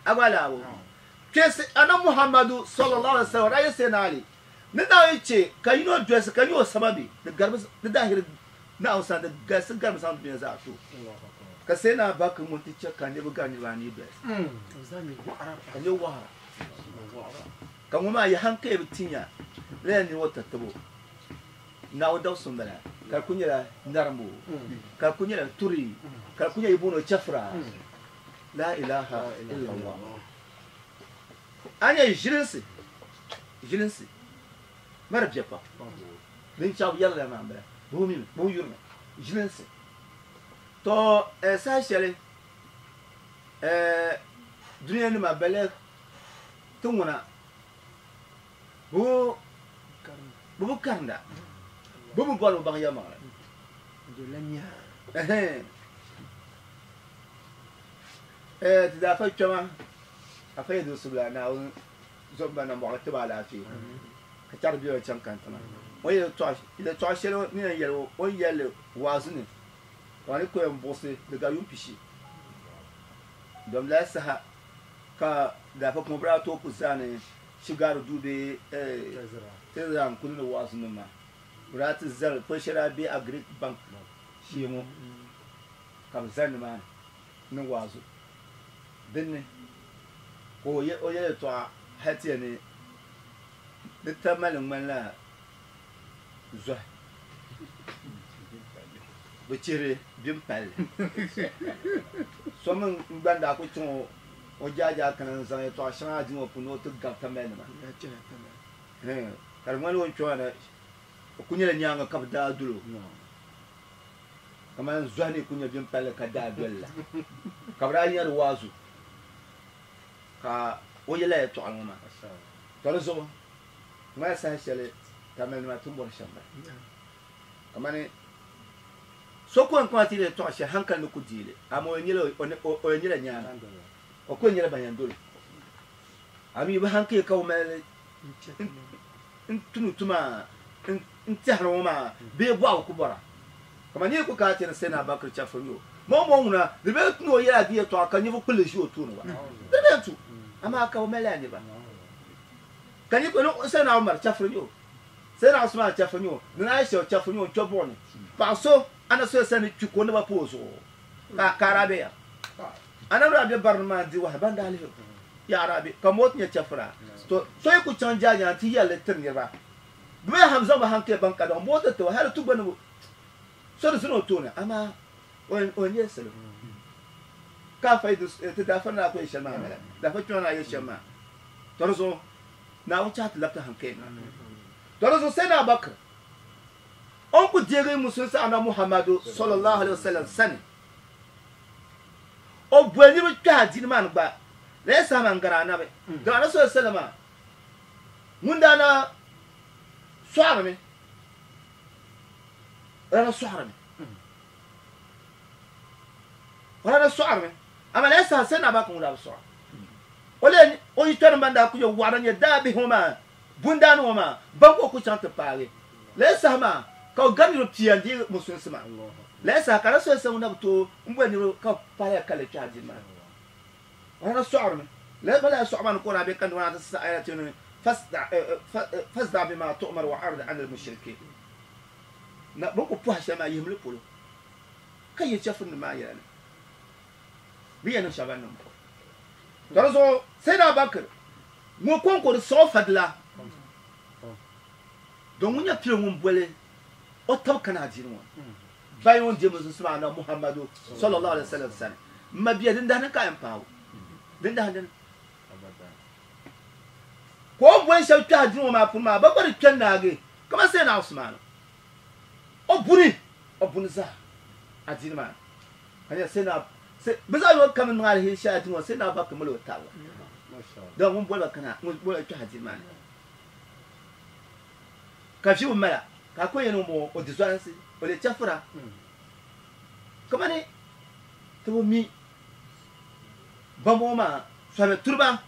A gba lahi kpɛsi Anabi Muhammadu sallallahu alaihi wasallam o daa yɛli Sayyidina Ali ni Naawuni chɛ ka yino dolisi ka nyɛ o sababi di garimi di dahiri Naawuni sani di galisi garimi zaŋ dunia zaa to ka Sayyidina Abubakar ŋun ti chɛ ka niriba gari niriba anii dolisi ka nyɛ wɔɣira ka ŋɔ maa yi hankali bi tinya lala niri ŋɔ tatabo Naawuni dabisili m-bala ka di kuli nyɛla narimbu ka di kuli nyɛla turi ka di kuli nyɛla yi booni o chɛfura. La ilaha illallah. A nya ʒilinsi, ʒilinsi mari biɛ pam. Din chaŋ bi yɛrila maa m-bala, bɛ bi mimi, bɛ bi yurimi, ʒilinsi. To saha shɛli dunia nima bala ti ŋuna bɛ bi karinda, bɛ bi bɔri bɛ baŋ yɛlimaŋli. Ti daa fa kpɛma afa yi di subila Naawuni zomba nambɔɣu ti ba alaafee ka chɛri bɛ chaŋ kantiŋa. O yɛltɔɣa shɛli ni yɛn yɛli o ni yɛli li waazu ni ka ni ku yɛn buɣisi di gari yuun pishi. Dom lala saha ka daafa kuma bɛ daa tooi ku zaani shigaari duu bee Tɛzira n-kuli ni waazu nim maa. Bɛ daa ti zali poli shɛli daa be Agric Bank shee ŋɔ ka bɛ zali nimaani ni waazu. Dinni ka o yɛli yɛltɔɣa hali ti yɛli ni di tamali ŋmanila zohi bɛ chihiri bim palli. So mi n-gba n-daa kuli chaŋ o jaajaa kana n-zaŋ yɛltɔɣa shɛŋa adiini ŋɔ puuni ni o ti gabi tamali nima. Ka di ŋmanila o ni kpe maa na o kuli nyɛla nyaaŋa ka bɛ daa doli o kamani zohi ni kuli nyɛ bim palli ka daa doli la ka bɛ daa yina di waazu ka o yɛla yɛltɔɣali ŋɔ maa. Tɔ di zuɣu ŋmala saha shɛli Tamalinima ti ni bɔri shɛm bala. Kamani so ku yɛn kpaŋ ti yɛltɔɣa shɛli hankali ni ku deei li, amaa o yɛn nyɛla nyaana, o ku yɛn nyɛla ban yɛn dol o. Amii bɛ hankali ka o mali n-tuni tuma n-tɛhiri ŋɔ maa bee bɔhigu ku bɔra. Kamani yi ku kana ti yɛli Sayyidina Abubakar chɛfiri yo, maŋmaŋ ŋuna di bee ni o yɛla di yɛltɔɣa ka ninvuɣ kpulli ʒi o tooni wa, di bee n-tu, amaa ka bɛ mali lala niriba. Ka ni Sayyidina Umar chɛfiri yo, Sayyidina Usman chɛfiri yo, ni Aisha chɛfiri yo n-kpe buɣu ni paɣ so Annabi sallallahu alaihi wasallam ni kpi ka o naba pa o zuɣu ka a daa be ya. Annabi daa be barini maa n-di wahi ban daa lihi o ya a daa be ka moot nyɛ chɛfira. To so yi ku chaŋ jaaja nti yɛli li tiri niriba, bɛ mi ham zaŋ bɛ hankali baŋ ka daŋ moot ti o hali ti gba ni so di zini o tooni amaa o yɛn nyɛla salo. Ka a fa yi ti daafa ni daa ku yɛ shɛli maa bala, daafa kpiɔŋ ni daa yɛ shɛm maa. To di zuɣu Naawuni chahi ti labiti hankali maa. To di zuɣu Sayyidina Abubakar o ni ku deegi Musulinsi Annabi Muhammadu sallallahu alaihi wasallam sani, o boli niriba kpɛhi adiini maa ni gba la saha maa n-gari Anabi. Dama Anabi sallallahu alaihi wasallam ŋun daa na sɔɣirimi, o daa na sɔɣirimi, o daa na sɔɣirimi, amaa lala saha Sayyidina Abubakar ŋun daa bi sɔɣi. O lee o yitɔnim ban daa kuli nyɛ waɣira nyɛ daabihi ŋɔ maa, bundaani ŋɔ maa, ban ka o kuli chaŋ ti paagi. Lala saha maa ka o gari niriba pia n-deei musulinsi maa. Lala saha ka Rasulullah sallam na bi tooi m-boli niriba ka bɛ paai lala kalinli kpɛhi adiini maa ni. O daa na sɔɣirimi. Lala lala sɔɣu maa ni ka o daa be ka niriba maa ti saɣi yɛla ti ni fasda bima tu'mar wa a'rid anil mushrikin. Na bɛ ni ku pɔhi shɛli maa yihimi li polo ka yi chɛfurinim maa yɛla ni bɛ yɛn niŋ shɛba ban niŋ ba. Ka di zuɣu Sayyidina Abubakar ŋɔ kɔŋko di sɔɣi o fadila don ŋun nyɛ pili ŋun boli o tab kana adiini ŋɔ bayan o ni deei musulinsi maa Anabi Muhammadu sallallahu alaihi wasallam sani. M ma bia din dahi ni ka a yɛn paai o din dahi dini ka o boli shɛba kpɛhi adiini ŋɔ maa puuni maa bɛ gba di kpɛ naagi kamani Sayyidina Usman o buni o buni zaa adiini maa ni ka nyɛ Sayyidina bɛ zaɣ yino kam niŋ aliheri shɛli adiini ŋɔ Sayyidina Abubakar mali o tabili don ŋun boli ba kana ŋun boli ba kpɛhi adiini maa ni. Ka ʒibu mala, ka a ku yɛn niŋ m-bɔŋɔ, o di zualinsi, o leei chɛfura. Kamani ti bi mi bambɔŋɔ maa sɔhimi turiba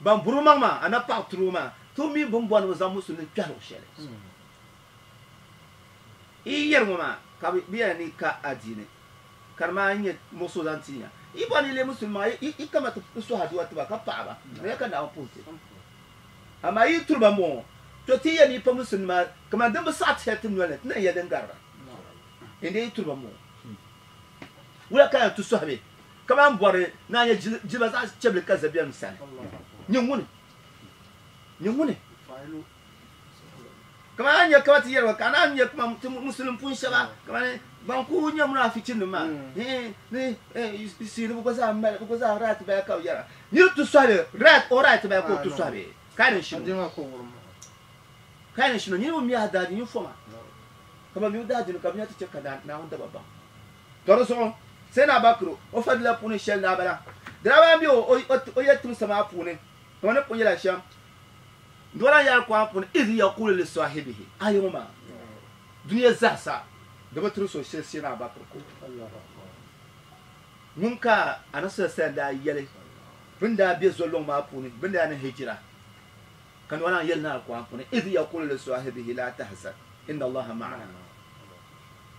ban buri bɛ maŋ maa, anabi paɣ turiba maa, ti bi mi bɛ ni bɔri ni bɛ zaŋ musulini kpɛhi luɣ shɛli. Yi yɛri ŋɔ maa, ka bɛ yɛla ni yi ka adiini, ka di maa nyɛ muɣisigu zaŋ ti ya. Yi bɔri ni yi leei musulimi maa, yi kama ti suhi aduwa ti ba ka paɣi ba, di nyɛla ka Naawuni puhi ti. Amaa yi turi ba m-bɔŋɔ, to ti yɛn yi pa musulinima kaman din bi saɣi ti shɛli ti noli ni, ti na yɛli din gari ba. Indee yi turi ba m-bɔŋɔ, wula ka yɛn ti sɔhi bɛ kaman bɔri ni a nya jilima zaɣ chɛbili ka zabiɛlim sani? Nyɛ ŋuni? Nyɛ ŋuni? Kaman a ni nya kaman ti yɛri ba ka a naan nya kaman ti musulim pun shɛba kaman ban ku nyɛ munaafichinim maa ni siiri bɛ gba zaa mali bɛ gba zaa right bala ka bɛ yɛra. Niri ti sɔhi right o right bala ka o ti sɔhi bee? Ka yi ni shino ka yi ni shino niriba mi a daadini foma ka ban mi o daadini ka bɛ nya ti chɛ ka Naawuni daba baŋ. Tɔ di zuɣu Sayyidina Abubakar o fadila puuni shɛli daa bala. Di daa bala m-be o yɛltimsa maa puuni kaman ni pun yɛla shɛm Dɔla yɛli Alkur'aan puuni, Idh yaqulu li saahibihi, a yɛŋɔ maa, dunia zaasa di bi tiri so shili Sayyidina Abubakar ko. Ŋun ka Anabi sallallahu alaihi wasallam daa yɛli bɛ ni daa be zolɔŋ maa puuni bɛ ni daa niŋ hijira ka ni o naan yɛli ni Alkur'aan puuni, Idh yaqulu li saahibihi laa tahzan inna Allaha ma'ana.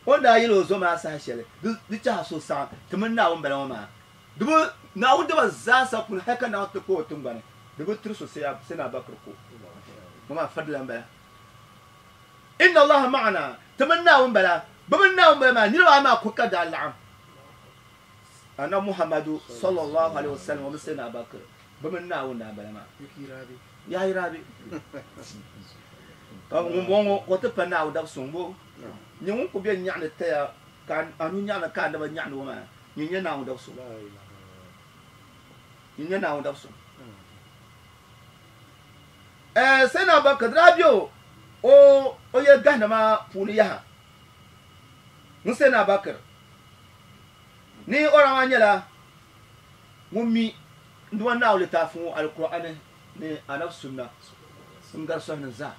O ni daa yɛli o zo maa saha shɛli, di chahi a suhusaɣim, ti mini Naawuni bala ŋɔ maa. Di bi Naawuni daba zaasa puuni hali ka Naawuni ti kpa o tiŋgbani, di bi tiri so Sayyidina Abubakar ko. Ŋɔ maa fadila m-bala. Inna Allaha ma'ana, ti mini Naawuni bala. Bɛ mini Naawuni bala maa, niriba ayi maa ko ka daa laɣim. Anabi Muhammadu sallallahu alaihi wasallam o mini Sayyidina Abubakar, bɛ mini Naawuni daa bala maa. Yaa yi rabi. Ka ŋumbɔŋɔ ka o ti pa Naawuni dab suŋ bo. Nyɛ ŋun ku be nyaɣini taya ka a nuu nyaɣini ka a naba nyaɣini o maa, nyɛ nyɛ Naawuni dab suŋ. Nyɛ nyɛ Naawuni dab suŋ. Sayyidina Abubakar di daa be o o yɛli gahina maa puuni yaha. Ŋun Sayyidina Abubakar ni o daa maa nyɛla ŋun mi n-duuma Naawuni litaafi ŋɔ Alkur'aani ni Anabi Sunna n-gari sɔhinim zaa.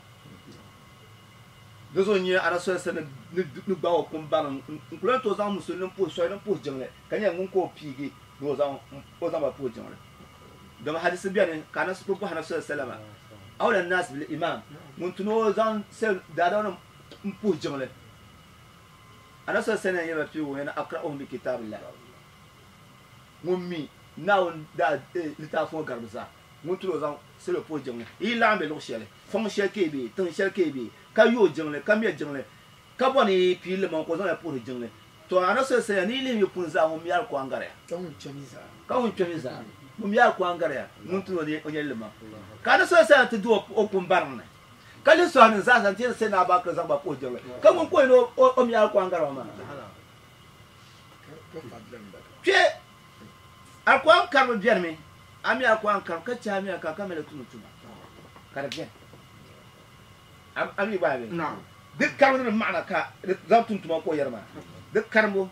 Di zuɣu n-nyɛ Anabi sallallahu alaihi wasallam ni gbaag o kum baŋ n-ku lan tooi zaŋ musulinim puhi sɔhinim puhi jiŋli ka nyɛla ŋun ka o piigi ni o zaŋ ba puhi jiŋli. Dama hadisi beni ka Anabi bɔhi Anabi sallallahu alaihi wasallam, Awla n-naas bil imaam, ŋun tu ni o zaŋ daadamnim m-puhi jiŋli. Anabi sallallahu alaihi wasallam yɛli ba piigi o yɛn aqra'uhum bi kitaabillah. Ŋun mi Naawuni daa litaafi ŋɔ garibu zaa, ŋun ti o zaŋ salo puhi jiŋli. Yi yi laɣim be luɣ shɛli, fɔŋ shɛli ka yi be, tiŋ shɛli ka yi be, ka yooi jiŋli, ka me jiŋli, ka bɔri ni yi pii limaŋ ka o zaŋ ya puhiri jiŋli, tɔ Anabi sallallahu alaihi wasallam ni yi lihi yi puni zaa, ŋun mi Alikuran gari ya. Ka ŋun kpɛmi zaa. Ka ŋun kpɛmi zaa, ŋun mi Alikuran gari ya, ŋun ti o nyɛ limaŋ. Ka Anabi sallallahu alaihi wasallam ti di o kum bariŋ ni, ka lihi sɔhinim zaa sa nti yɛli Sayyidina Abubakar zaŋ ba puhi jiŋli, ka ŋun ka o yɛn o mi Alikuran gari ba maa. Kpe Alikuran karibu benimi, a mi Alikuran karibu ka che a mi Alikuran ka mali tuma tuma ka di beni. A mi gba bɛ? Di karibu ni di maɣina ka di zaŋ tum tuma ka o yɛri maa. Di karimbu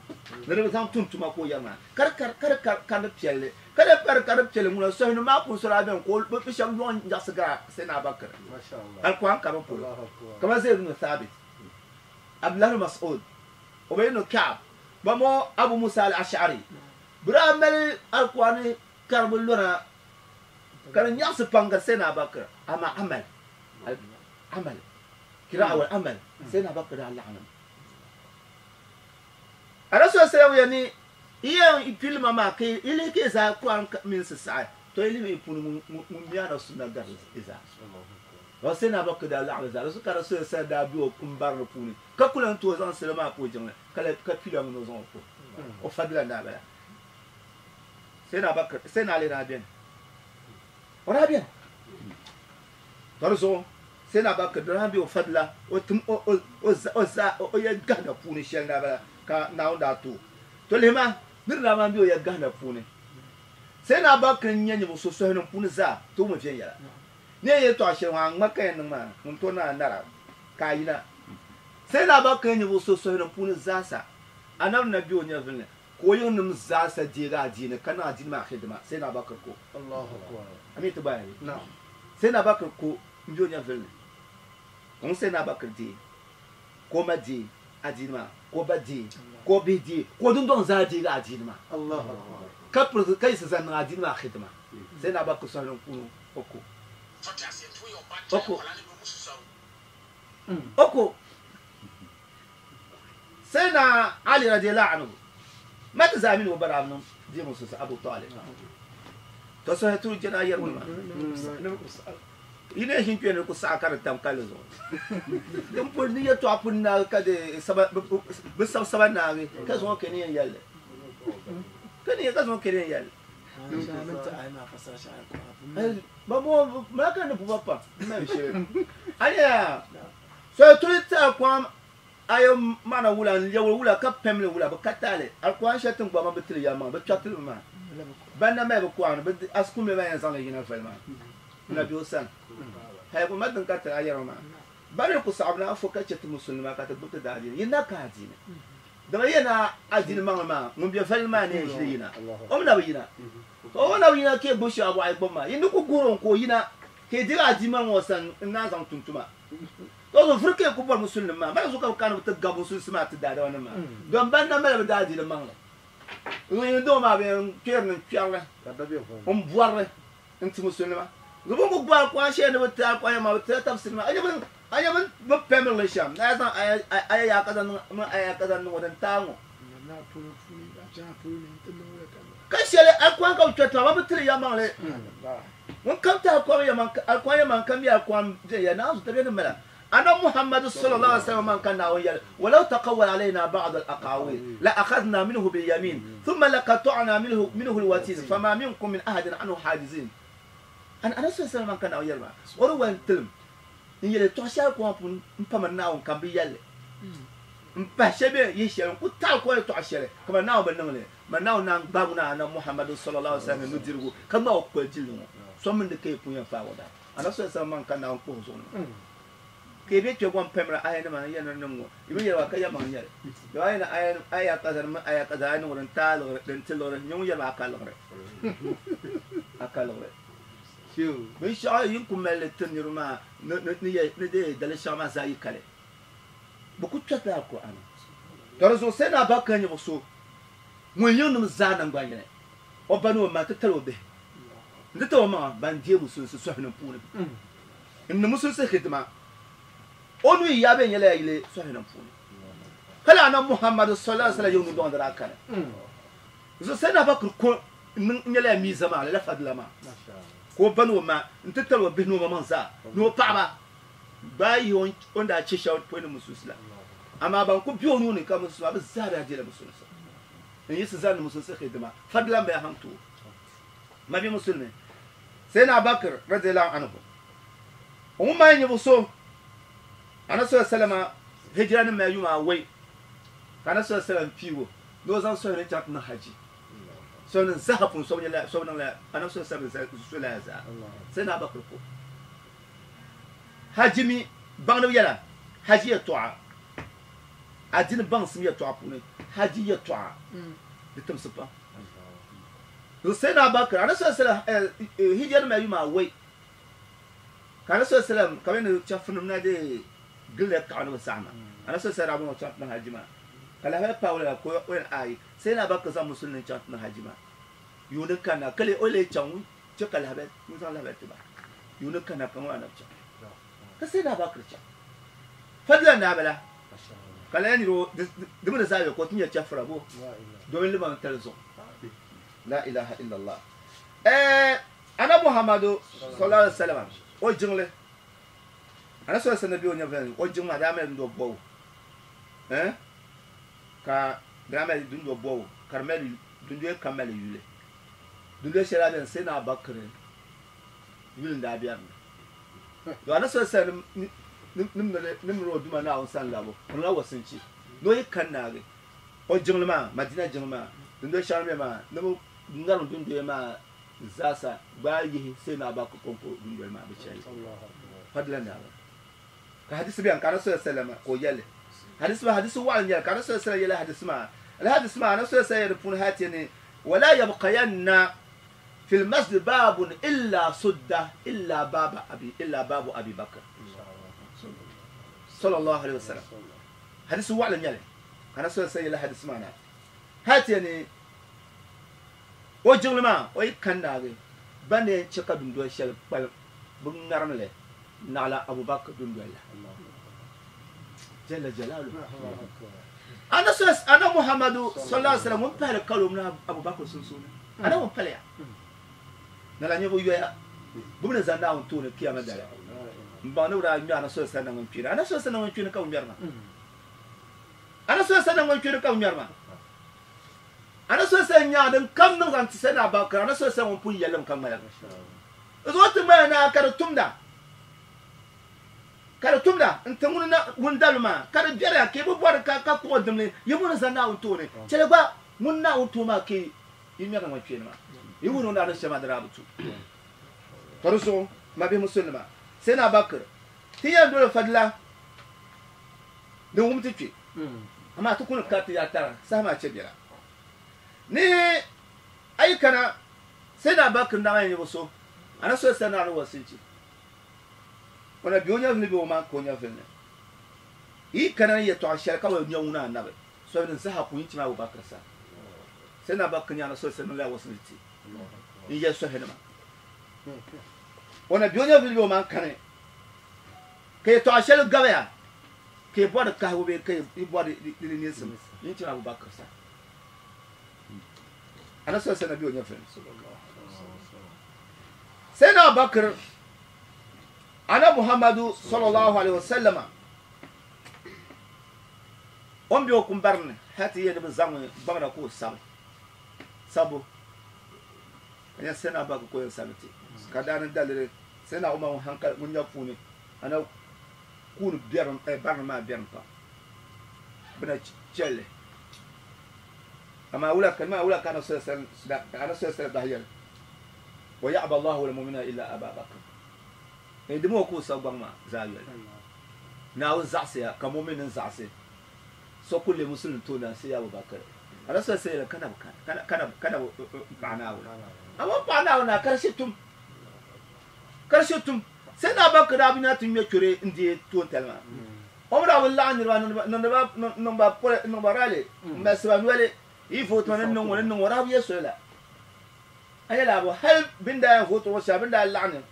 ni di zaŋ tum tuma ka o yɛri maa. Ka di kari ka di kari karili piɛlli. Ka di pari karili piɛlli ŋuna sɔhinu maa puuni sɔrɔ a beni ka o bɛ shɛba yɔŋ nyaɣisi gari Sayyidina Abubakar Alikuran karibu polo. Kamani Zayd ibn Thabit, Abdullah ibn Mas'ud, Ubay ibn Ka'b, ba mo Abu Musa al-Ash'ari, bɛ daa mali Alkur'aani karibu lɔna ka di nyaɣisi pam gari Sayyidina Abubakar, amaa amal, amal, kira'a wal amal, Sayyidina Abubakar daa laɣim li mi. Rasul sallam ya ni yi yɛn pili ma maa ka yi lihi ka yi zaa Kur'aan mini sisaɣi, tɔ yi lihimi yi puuni ŋun mi Anabi sunna gari yi zaa. Ka Sayyidina Abubakar daa laɣim li zaa, di zuɣu ka Rasul sallam daa be o kum barini puuni Ka ku lan tooi zaŋ salo maa puhi jiŋli, ka lahi ka pila ŋun o zaŋ o puhi o fabila n-daa bala. Sayyidina Abubakar, Sayyidina Ali daa beni. O daa beni. Ka di zuɣu Sayyidina Abubakar daa be o fabila o tim o o o za o za o yɛli gahina puuni shɛli n-daa bala ka Naawuni daa ti o. To lihi ma, nir daa maan be o yɛli gahina puuni. Sayyidina Abubakar n-nyɛ ninvuɣ so sɔhinim puuni zaa ti wum viɛnyɛla. Ni yɛn yɛltɔɣa shɛli ŋɔ a ŋma ka yɛn niŋ maa ŋun tooi niŋ a nara ka a yina. Sayyidina Abubakar ninvuɣ so suhuri puuni zaasa, Anabi na be o nyɛvili ni ka o yiŋnim zaasa deegi adiini ka niŋ adiini maa xidima, Sayyidina Abubakar ko. A mi ti gbaai bee? Sayyidina Abubakar ko m-be o nyɛvili ni ka ŋun Sayyidina Abubakar deei ka o ma deei adiini maa ka o ba deei ka o bihi deei ka o dundɔŋ zaa deegi adiini maa ka pirigi ka yiɣisi zaŋ niŋ adiini maa xidima. Sayyidina Abubakar suhuri puuni o ko. O ko. O ko Sayyidina Ali radiyallahu anhu ma ti zaa mini o ba daa niŋ deemu susa Abu Talib. To sohi turi jɛna yɛrimi maa. Yi ni ʒin kpe ni ku saɣi ka di tam kalli zuɣu. Din pun ni yɛtɔɣa pun naagi ka di saba bi sabi saba naagi ka zaŋ o kɛ ni yɛn yɛlli. Ka ni ka zaŋ o kɛ ni yɛn yɛlli. Ba mo malaka ni buba pam mali shɛli. Anya so tuli ti alquran ayo mana wula n lɛbiri wula ka pɛmli wula bi ka taali alquran shɛli tiŋgbɔŋ maa bi tili ya maŋ bi kpɛritili mi maa ban na mali bi kuɣani bi asikumli maa yɛn zaŋli yina voli maa na bɛ o sani hali ma din ka tili a yɛrimi maa ba ni ku saɣim ni a fo ka chɛ ti musulimi maa ka ti gbubi ti daadiini yi na ka adiini Dama yi na adiini maŋli maa, ŋun be vali maa ni yɛn ʒili yina, o mi na bi yina. Ka o na bi yina ka yi gbubi shɛli abɔɣu yi gbubi maa, yi ni ku guhiri o ka o yina, ka yi diri adiini maŋli ŋɔ sani n-naan zaŋ tum tuma. Ka o zuɣu vuri ka yi ku bɔri musulinim maa. Mali zuɣu ka bɛ kana ni bɛ ti gabi musulinsi maa ti daadamanim maa, dɔn ban na mali bɛ daadiini maŋli. Ŋun doo maa bɛ kpɛri ni kpɛrili n bɔrili n ti musulima. Zubu ku gbaai alquran shɛli ni bi ti alquran maa bi tila tafsiri maa. A nya bi pɛmirili shɛm ni a zaŋ aya yaa ka zaŋ niŋ mini aya yaa ka zaŋ niŋ o din taai ŋɔ. Ka shɛli alquran ka bi kpɛriti maa ba bi tiri yɛlimaŋli. Ŋun kam ti alquran yɛlimaŋli ka mi alquran viɛnyɛla naanzu tabiya ni mala. Annabi Muhammadu sallallahu alaihi wasallam man ka Naawuni yɛli, Walaw taqawwala alayna ba'd al-aqawil la akhadhna minhu bil-yamin thumma laqata'na minhu al-watin fama minkum min ahadin anhu hajizin. Annabi sallallahu alaihi wasallam man ka Naawuni yɛli maa, o di wali tilim n yɛli yɛltɔɣa shɛli koma pun m pa mani Naawuni ka m bi yɛli li m pahi shɛli bee yihi shɛli n ku taɣi ko yɛltɔɣa shɛli kamani Naawuni bi niŋ li mani Naawuni naan gbaagi ŋuna Annabi Muhammadu sallallahu alaihi wasallam nudirigu ka ŋmaai o kpoli jilli ŋɔ so mini di ka yi pun yɛn faagi o bahi. Annabi sallallahu alaihi wasallam man ka Naawuni kpuɣi zuɣu ni ka yi be kpe gom pamira ayanima n yɛn ni niŋ ŋɔ, yi bi yɛli ba ka yɛlimaŋ n-nyɛ li. Dama a yi ni aya kaza mini aya kaza a yi niŋ din taai liɣiri, din ti liɣiri, nyɛ ŋun yɛli ba a ka liɣiri. A ka liɣiri. Binshɛɣu yi ni ku mali li ti niriba maa ni deei dali shɛŋa maa zaa yi kali, bɛ ku kpɛrila Alkur'aani. Ka di zuɣu Sayyidina Abubakar nyɛ so ŋun yiŋnim zaa naŋgbanyini, o ba ni o ma nti tali o bihi nti tabi o maŋa ban deei musulinsi sɔhinim puuni. N ni musulinsi hidima, o nuu yi yaa bɛ nyɛla ya yili sɔhinim puuni. Ka lala Anabi Muhammadu sallallahu alaihi wasallam yiŋ nudɔŋ di daa kani. Zuɣu Sayyidina Abubakar ko n nyɛla ya miiza maa, lala fadila maa, ka o ba ni o ma nti tabi o bihi ni o maŋmaŋ zaa ni o paɣaba gbaai yihi o ni daa che shɛba pɔi ni musulinsi la. Amaa ban ku be o nuu ni ka musulinsi maa bɛ zaa daa deela musulinsi n yiɣisi zani ni musulinsi hidima fadila m-bala haŋ ti o. Mabi musulimi Sayyidina Abubakar radiyallahu anhu o ŋun maa nyɛ so Anabi sallallahu alaihi wasallam hijira ni mali yuma awai ka Anabi sallallahu alaihi wasallam piigu ni o zaŋ sohili chaŋ ti niŋ haji so ni zaha pun so nyɛla so niŋla Anabi sallallahu alaihi wasallam so laya zaa Sayyidina Abubakar ko haji mi baŋdibu yɛla haji yɛltɔɣa adini baŋsim yɛltɔɣa puuni haji yɛltɔɣa di timsi pam. Sayyidina Abubakar, Anabi sallallahu alaihi wasallam hijira nima yuma awai ka Anabi sallallahu alaihi wasallam ka bɛ ni chɛfurinim na dee gilila kaɣa ni bɛ saɣim ma. Anabi sallallahu alaihi wasallam daa bɔŋɔ chaŋ ti niŋ haji maa ka lahabali paai o lala ka o yɛli aai Sayyidina Abubakar zaŋ musulini chaŋ ti niŋ haji maa yuuni kanna ka lee o lee chaŋ ŋun che ka lahabali ŋun zaŋ lahabali ti ba yuuni kanna ka ŋun Anabi chaŋ ka Sayyidina Abubakar chaŋ fadila n daa bala ka lala niri o di mi di zaa be ka o ti nyɛ chɛfura bo domin limaŋ tali zuɣu. La ilaha illallah. Eh, Annabi Muhammadu sallallahu alaihi wasallam o jiŋli. Annabi sallallahu alaihi wasallam be o nyɛvili ni o jiŋ maa daa mali dundo bɔbu. Eh, ka daa mali dundo bɔbu ka di mali dundoya kam mali yuli. Dundoya shɛli daa beni Sayyidina Abubakar yuli n daa be di ni. To Annabi sallallahu alaihi wasallam ni miri o Duuma Naawuni sani labu, o niŋla wasinchi ni o yi kani naagi o jiŋli maa, Madina jiŋli maa, dundoya shɛŋa ni be maa, ni bɛ ŋarim dundoya maa zaasa gbaai yihi Sayyidina Abubakar kɔŋko dundoli maa bɛ chɛli. Fadila ni daa ka hadisi beni ka Anabi sallallahu alaihi wasallam ka o yɛli hadisi maa, hadisi waɣila n-nyɛli ka Anabi sallallahu alaihi wasallam yɛli hadisi maa. Lala hadisi maa Anabi sallallahu alaihi wasallam yɛli di puuni hali ti ni wala yabqayanna fil masjid babun illa sudda illa baba abi illa babu Abi Bakr sallallahu alaihi wasallam. Hadisi waɣila n-nyɛli. Ka na soli sayi la hadisi maa na hali ti yɛn ni o jiŋli maa o yi kani naagi ba ni yɛn chɛ ka dundoli shɛli kpalim bɛ ŋarim li naɣila Abu Bakr dundoli la Jalla Jalaluhu. Ana soli ana Muhammadu sallallahu alaihi wasallam ŋun pahili kalo mini Abu Bakr sunsuuni ana ŋun paliya lala nyɛ bɛ yoya bɛ mi ni zani Naawuni tooni kiyama dali m baŋ ni bɛ daa ŋmɛ ana soli sani naŋgban kpeeni ana soli sani naŋgban kpeeni ka bɛ ŋmɛri maa. A ni soli sani ŋun kpiri ka bɛ ŋmɛri maa. A ni soli sani nyaŋ din kam niŋ zaŋ ti sani a ba kara. A ni soli sani ŋun pun yɛli li mi ka ŋmaligi. Di zuɣu ti ŋmaya ni a ka di tumda, ka di tumda n-ti ŋun na ŋun dali maa, ka di biɛriya ka yi bi bɔri ka ka kuɣi dimli yi mu ni zani Naawuni tooni. Chɛli gba ŋun Naawuni tuui maa ka yi ŋmɛri naŋgbankpeeni maa. Yi wuhi ni o ni daa niŋ shɛli maa di daa bi tu. Ka di zuɣu, mabihi musulinima, Sayyidina Abubakar, ti yɛn doli fadila din wum ti kpe, amaa ti ku ni kariti ya tara saha maa che biɛla. Ni a yi kana Sayyidina Abubakar n daa maa nyɛ so, a na soli sani ni wasinchi. O na be o nyɛvili bee o maan ka o nyɛvili ni. Yi yi kana ni yɛtɔɣa shɛli ka bi nya ŋuna anabi, soli din saha ku yi ti ma Abubakar sani. Sai na Abubakar nyana so sai la wasu ti in ya so hinima ona biyo nya video man kane ke to ashel gabaya ke bor ka ho be ke i bor di ni sim yin ti Abubakar sa ana so sai na biyo nya fe sai na Abubakar ana Muhammadu sallallahu alaihi wasallam on biyo kun barne hati ye bi zaŋ gbamna ko sabu sabu nya sena ba ko sabiti ka dan dalire sena umma hankal mun nya puni ana kun biaram e barna ma biaram pa bina chelle ama wula kalma wula kana sallallahu ana sallallahu dahiyal wa ya'ba Allahu lil mu'mina illa Aba Bakr e dimo ko sabu ma zalal na za'siya ka mu'minin za'si so kulle muslim to na sai Abu Bakr ana sai kana kana kana kana ba'na wala amma ba'na wala karshe tum sai na Bakr abina tun me kure indi to talma umra wallahi ni ba no ba no ba rale masba wale ifo to nan nan nan wara biya sola ayala abu hal binda ya foto wa binda la'an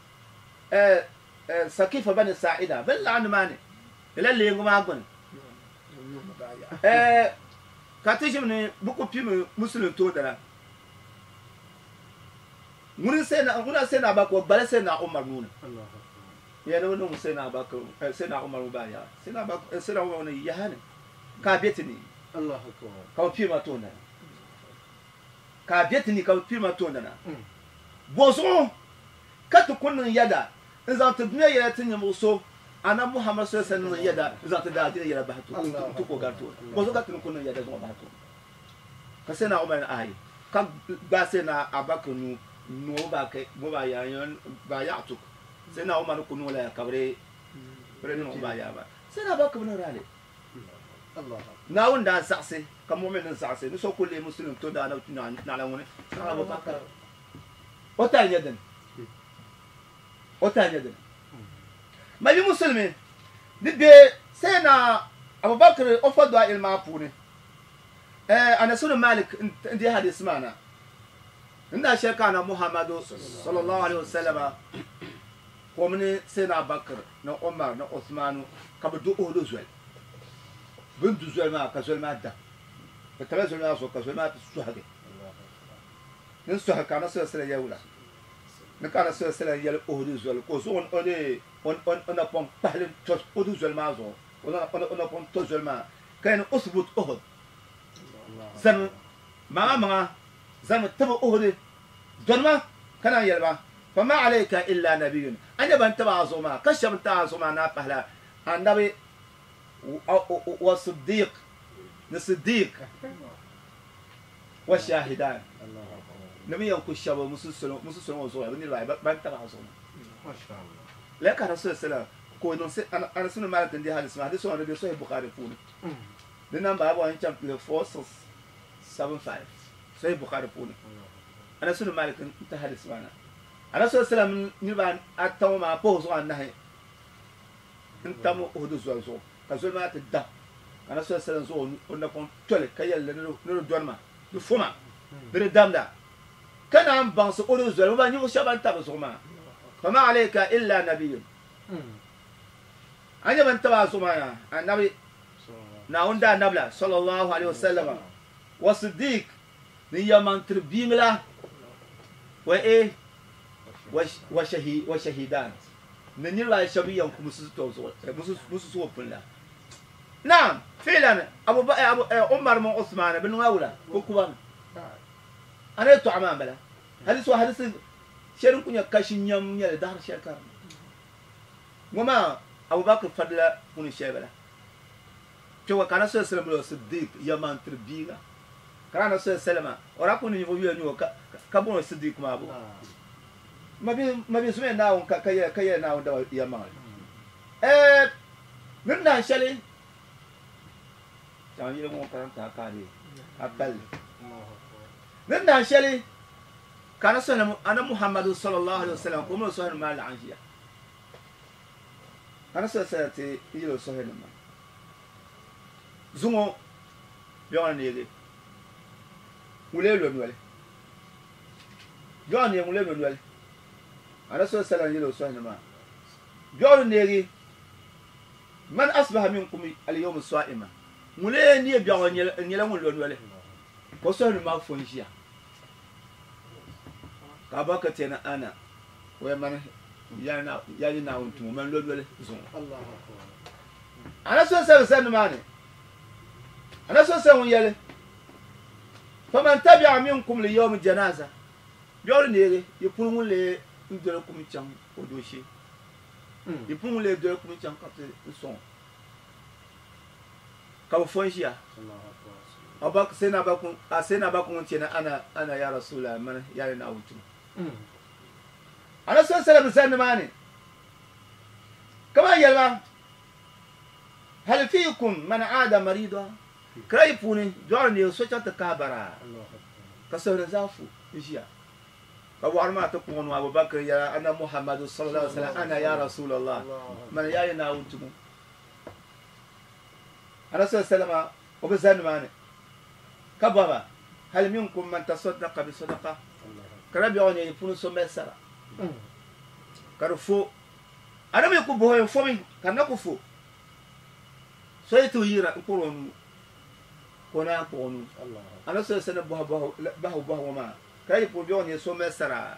sakifa bani sa'ida bil la'an mani lalle nguma gun ka ti ne buku pi muslim to dara mun sai na mun sai na ba ko bale sai na Umar nuna ya no no sai na ba ko sai na Umar ba ya sai na ba sai na Umar ne ya hane ka betini Allahu akbar ka pi ma to na ka betini ka pi ma to na bozo ka to kunun yada in za ta duniya ya tin muso ana Muhammad sallallahu alaihi wasallam yada za ta da yada ba to to ko garto bozo ka tun kunun yada zo ba to ka sai na Umar ai ka ba sai na Abakar nu no ba kai mo ba ya yon ba ya to sai na Umar kunu la kabre bare no ba ya ba sai na Abakar no rale Allah na wanda sa'se ka mu'minin sa'se ni so kulle muslim to da na na la woni na Abubakar o ta yadan o ta yadan ma bi muslimi ni be sai na Abubakar o fadwa ilma puni ana sunu Malik ndi hadis mana inda sheka na Muhammadu sallallahu alaihi wasallam ko mun sai na Abubakar na Umar na Uthman ka bi du odo zuwal bin du zuwal ma ka zuwal ma da ka tala zuwal ma so ka zuwal ma su hage nin su haka na sallallahu alaihi yawla ni ka na sallallahu alaihi yal odo zuwal ko so on ode on on on pon pahlin to odo zuwal ma zo on on on pon to zuwal ma kain usbut uhud zan ma ma zan taba uhud donma kana yalba fama alayka illa nabiyyun anya ban taba azuma kasham ta azuma na pahla annabi wa siddiq ni siddiq wa shahidan nabiyan ku shaba musulun musulun zo ya ni ban taba azuma masha Allah la ka rasul sallallahu ko non se ana sunu malik ndi hadis ma hadis wa sahih bukhari funi the number I want chapter 4675 sahih bukhari funi ana sunu malik ta hadis mana ana sallallahu ni ba atawma po zo annahi intamu uhudu zo zo ka zo ma ta da ana sallallahu zo on na kon tole kayal ne no donma du fuma bir damda kana an ban so uhudu zo ba ni shaban ta zo ma fama alayka illa nabiyyun anya ban taba zo ma annabi na wanda nabla sallallahu alaihi wasallam wa siddiq ni yaman tirbimla wa e wa shahi wa shahidan ni ni la shabiyan ku musu to zo musu musu so fulla na'am filan abu abu umar min usman bin wawla ko kuban ana to amam bala hadis wa hadis sherin kunya kashin yam ya dar shekar wama abu bakr fadla kun shebala cewa kana so sallam siddiq yaman tirbiga kana so sallama ora kun ni voyu ni ka ka bon siddiq ma bo ma bi sume na on ka ka ka na on da yaman min na shali tan yi mo kan ta ka ni abal min na shali kana so ana muhammadu sallallahu alaihi wasallam ko mo so ma la anjiya kana so sallati yilo so ma zungo biyan ne Ŋun lee lo noli? Biɛɣu neei ŋun lee lo noli? Anabi sallallahu alaihi wasallam yɛl o sɔhini maa, Biɛɣu ni neegi, Man asbaha minkum al-yawma sa'ima, ŋun lee neei biɛɣu n-nyɛla ŋun lo noli, ka o sɔhini maa fo n-ʒiya. Ka Abubakar ti yɛli ni ana, o yɛli mani, yaa nyini Naawuni tumo, mani lo noli zuŋɔ. Anabi sallallahu alaihi wasallam zani nimaani, Anabi sallallahu alaihi wasallam ŋun yɛli, Faman tabi'a minkum li-yawmi janaza, Biɛɣu ni neegi yi puuni ŋun lee n-doli kum chaŋ o dooshee, yi puuni ŋun lee doli kum chaŋ ka ti n-sɔŋ o, ka bɛ fo n-ʒiya. Sayyidina Abubakar ŋun ti ni ana, ana ya Rasulallah, mani yaa ni Naawuni tumo. Anabi sallallahu alaihi wasallam zani nimaani ka maa yɛli ba, Hal fiikum man aada marida? Kira yi puuni dɔɣiri neei so chaŋ ti kahi bara ka suhuri zaa fu n-ʒiya. Ka wɔɣiri maa ti kpuɣi nuu Abu Bakr yɛla, Anna Muhammadu sallallahu alaihi wasallam, ana ya Rasulallah, mani yaa yi Naawuni tumo. Anabi sallallahu alaihi wasallam o bi zani nimaani ka bɔhi ba, Hal minkum man tasaddaqa bi sadaqa? Kira biɛɣu neei yi puuni so mali sara ka di fo. A ni mi ku bɔhi o fomi ka di na ku fo. So yi ti yira n-kpuɣir o nuu, ka o naan kpuɣ o nuu. A ni so sani bɔhi bahigu bɔhigu ŋɔ maa, ka yi puuni biɛɣu nyɛ so mali sara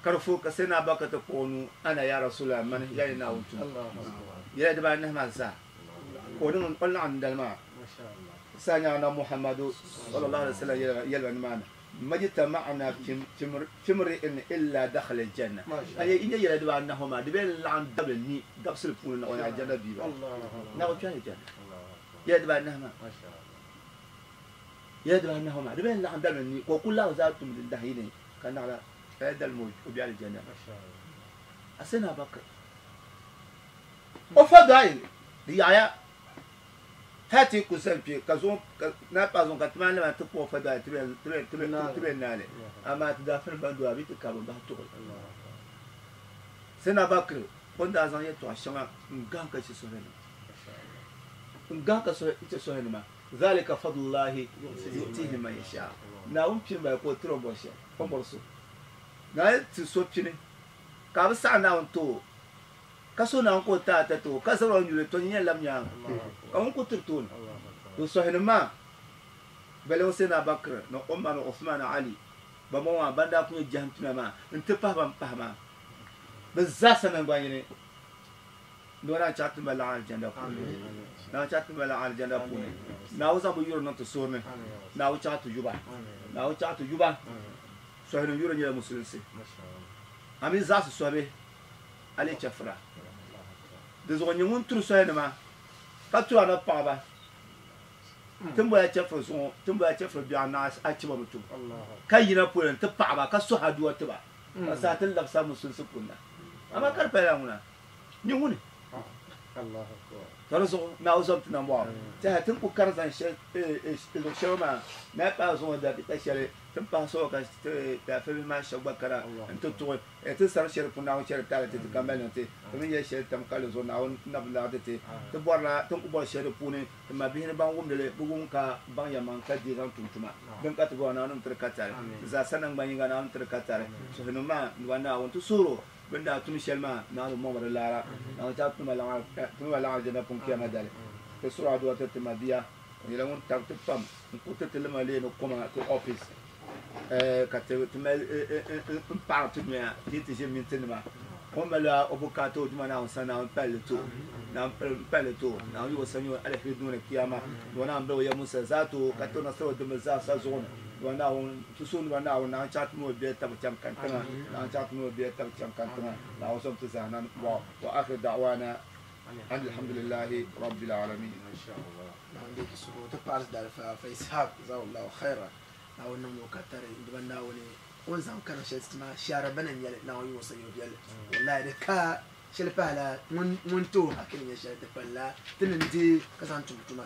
ka di fo, ka Sayyidina Abubakar ti kpuɣ o nuu, Ana ya Rasulallah, mani ya ni Naawuni tumo. Yɛla dibaanahi maa zaa ka o niŋ o laɣim dindali maa. Saha nyaŋ Anabi Muhammadu sallallahu alaihi wasallam yɛli ba nimaani, Majtama'na fi mri'in illa dakhala al-janna. A yi nya yɛla dibaanahi ŋɔ maa, di bee n-laɣim dabili ni dabisili puuni na o ni Aljanna bia ba. Na o kpɛhi Aljanna. Yɛla dibaanahi maa. Yɛla dibaanahi ŋɔ maa, di bee n-laɣim dabili ni ka o kuli lahi zaa tum din dahi yini ka naɣila lala dalimi o be Aljanna. A Sayyidina Abubakar, o fadail di yaɣiya. Hali ti yi ku zani kpe ka zuŋ ka naa paai zuŋ ka ti maan lana ti kpuɣi fadail ti bɛ naali, amaa ti daa firi ban dɔya bɛ ti kari ba bahi tuɣili. Sayyidina Abubakar o ni daa zaŋ yɛtɔɣ shɛŋa n-gahim ka chɛ Sɔhilinima, n-gahim ka chɛ Sɔhilinima, Zalika fadlullahi yu'tihi man yasha, Naawuni pini bala ka o tiri o ni bɔri shɛli, o ni bɔri so. Naawuni ti so pini ka a bi saɣi Naawuni ti o. Ka so naan ku o ti a tatabo, ka zabir o nyuli, tɔ nyin yɛn lab nyaaŋa, ka ŋun ku tiri tooni. To sɔhinim maa balibu Sayyidina Abubakar ni Umar ni Uthman ni Ali, bambɔŋɔ maa ban daa kul nyɛ jahim tuna maa nti pahi ban pahi maa, bɛ zaa sa naŋgbanyini ni o naan chaɣ ti ma laɣim Aljanna puuni. Naawuni chaɣ ti ma laɣim Aljanna puuni. Naawuni zaŋ bɛ yuri niŋ ti suhuri ni. Naawuni chaɣ ti yuba. Naawuni chaɣ ti yuba. Sɔhinim yuri nyɛla musulinsi. A mi zaɣisi sɔhibihi. a leei chɛfura. Di zuɣu nyɛ ŋun turi soyanima ka turi anabi paɣaba. Ti ni boli a chɛfuri zuŋɔ, ti ni boli a chɛfuri biɛɣu naɣ a chiba bi tum, ka yina polo nti paɣi ba ka suhi aduwa ti ba, ka saha ti labisi a musulinsi puuni na. Amaa ka di pala lala ŋuna nyɛ ŋuni? Tɔ di zuɣu Naawuni zom ti nambɔɣu. Tɛha ti ni ku kari zaŋ luɣ shɛli maa, Naa paai zuŋɔ dakika shɛli ti ni pahi sɔŋɔ ka ti bihi maa shɛba gba kana nti tuɣi. Ti sari shɛli puuni Naawuni chɛri taali ti ti ka mali niŋ ti, ti mi yɛli shɛli tam ka li zuɣu Naawuni na bi larigi ti. Ti bɔrila ti ni ku bɔri shɛli di puuni, ti mabihi ni ban wumdi li bi wum ka baŋ yɛlimaŋli ka deei zaŋ tum tuma. Din ka ti bɔra Naawuni ni tiri ka tari. Ti zaa sa naŋgban yiŋga Naawuni ni tiri ka tari. Suhunim maa ni ba Naawuni ti suhir o bɛ ni daa tum shɛli maa Naawuni bi mɔŋ ba di laara. Naawuni chaɣ ti ma laɣim Aljanna puuni kiyama dali. Ti suhir aduwa ti ti mabia o nyɛla ŋun tabi ti pam n-ku ti ti lima leeni koma ti office. Ka ti mali n paɣiri ti noya ti yi ti ʒini minti nima o ni mali o bukaata o Duuma Naawuni sani Naawuni pali li ti o Naawuni pali li ti o Naawuni yi o sanyo aliheri duuni kiyama Duuma Naawuni bali o ya Musa zaa ti o ka ti o nasara o dimbi zaa sa zuɣu ni Duuma Naawuni ti suhu Duuma Naawuni Naawuni chaɣ ti mi o biɛli tabi chaŋ kantiŋa Naawuni chaɣ ti mi o biɛli tabi chaŋ kantiŋa Naawuni zom ti zaa na bɔɣu wa akhir da'wana an alhamdulillahi rabbil alamin. Naawuni deei ti suhu ti paɣiri ti daalifa fa Ishaq jazakallahu khaira. Naawuni niŋmi o ka tari n-duba Naawuni o ni zaŋ karim shɛli ti ma shɛhira bana n-nyɛ li, Naawuni yi o sanyo viɛlli. Wallahi di ka shɛli pahila ŋun ti o haki ni nyɛ shɛli di palila ti ni deei ka zaŋ tum tuma.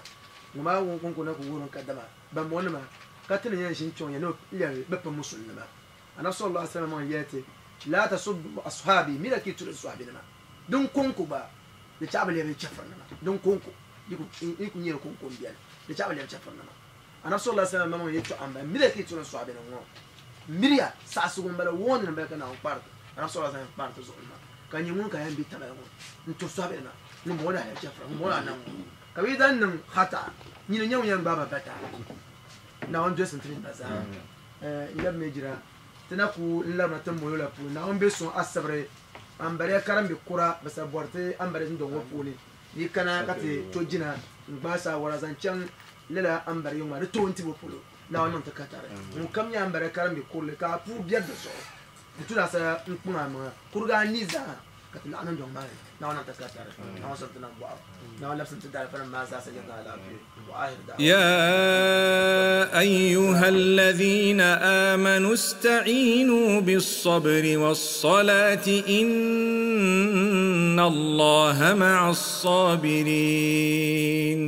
Ŋɔ maa ŋun kɔŋko na ku wurim kadama bambɔŋɔnima ka ti ni yɛn ʒini kpiɔŋ ya ni lɛbi bɛ pa musulinima. Anabi sallallahu alaihi wasallam maŋ yɛli ti, Laa tasubbu ashabi, mira ka yi turi n sɔhibinima, din kɔŋko gba di chaɣ bi lɛbi chɛfurinima, din kɔŋko yi ku nyɛ di kɔŋko m-beni, di chaɣ bi lɛbi chɛfurinima. Anabi sallallahu alaihi wasallam yɛltɔɣa n bala miriya ka yi tuna sɔhabi nim ŋɔ miriya saɣasigu n bala wɔɔni n bala ka Naawuni kpaari anabi sallallahu alaihi wasallam kpaari ti zuɣu maa ka nyɛ ŋun ka yɛn bɛ tamali ŋɔ n turi sɔhabi nima ŋun bɔŋɔ daa yɛn chɛfura ŋun bɔŋɔ daa niŋ ŋɔ ka bi dan niŋ hata nyini nyɛ ŋun yɛn gbaai ba bata Naawuni dolisi ti niriba zaa n lɛbi mi jira ti na ku n labina ti molo la puuni Naawuni bɛ suŋ asibiri ambariya karimbi kura bi sa bɔri ti ambariya dundɔŋ ŋɔ puuni yi kana ka ti to jina n gbaai saawara zaŋ chaŋ lala ambariya ŋɔ maa di toon tibo polo Naawuni niŋ ti katari ŋun kam nyɛ ambariya karimbi kurili ka a puu biɛri di zuɣu n tuna sa n kpaŋ a maŋa kurigi a ni zaa ka ti laɣim dundɔŋ maa ni Naawuni niŋ ti katari Naawuni sɔŋ ti nam bɔɣu Naawuni labisi ti daalifa nim maa zaa sa jɛndi alaafee wa ahir da'wa. يا أيها الذين آمنوا استعينوا بالصبر والصلاة إن الله مع الصابرين.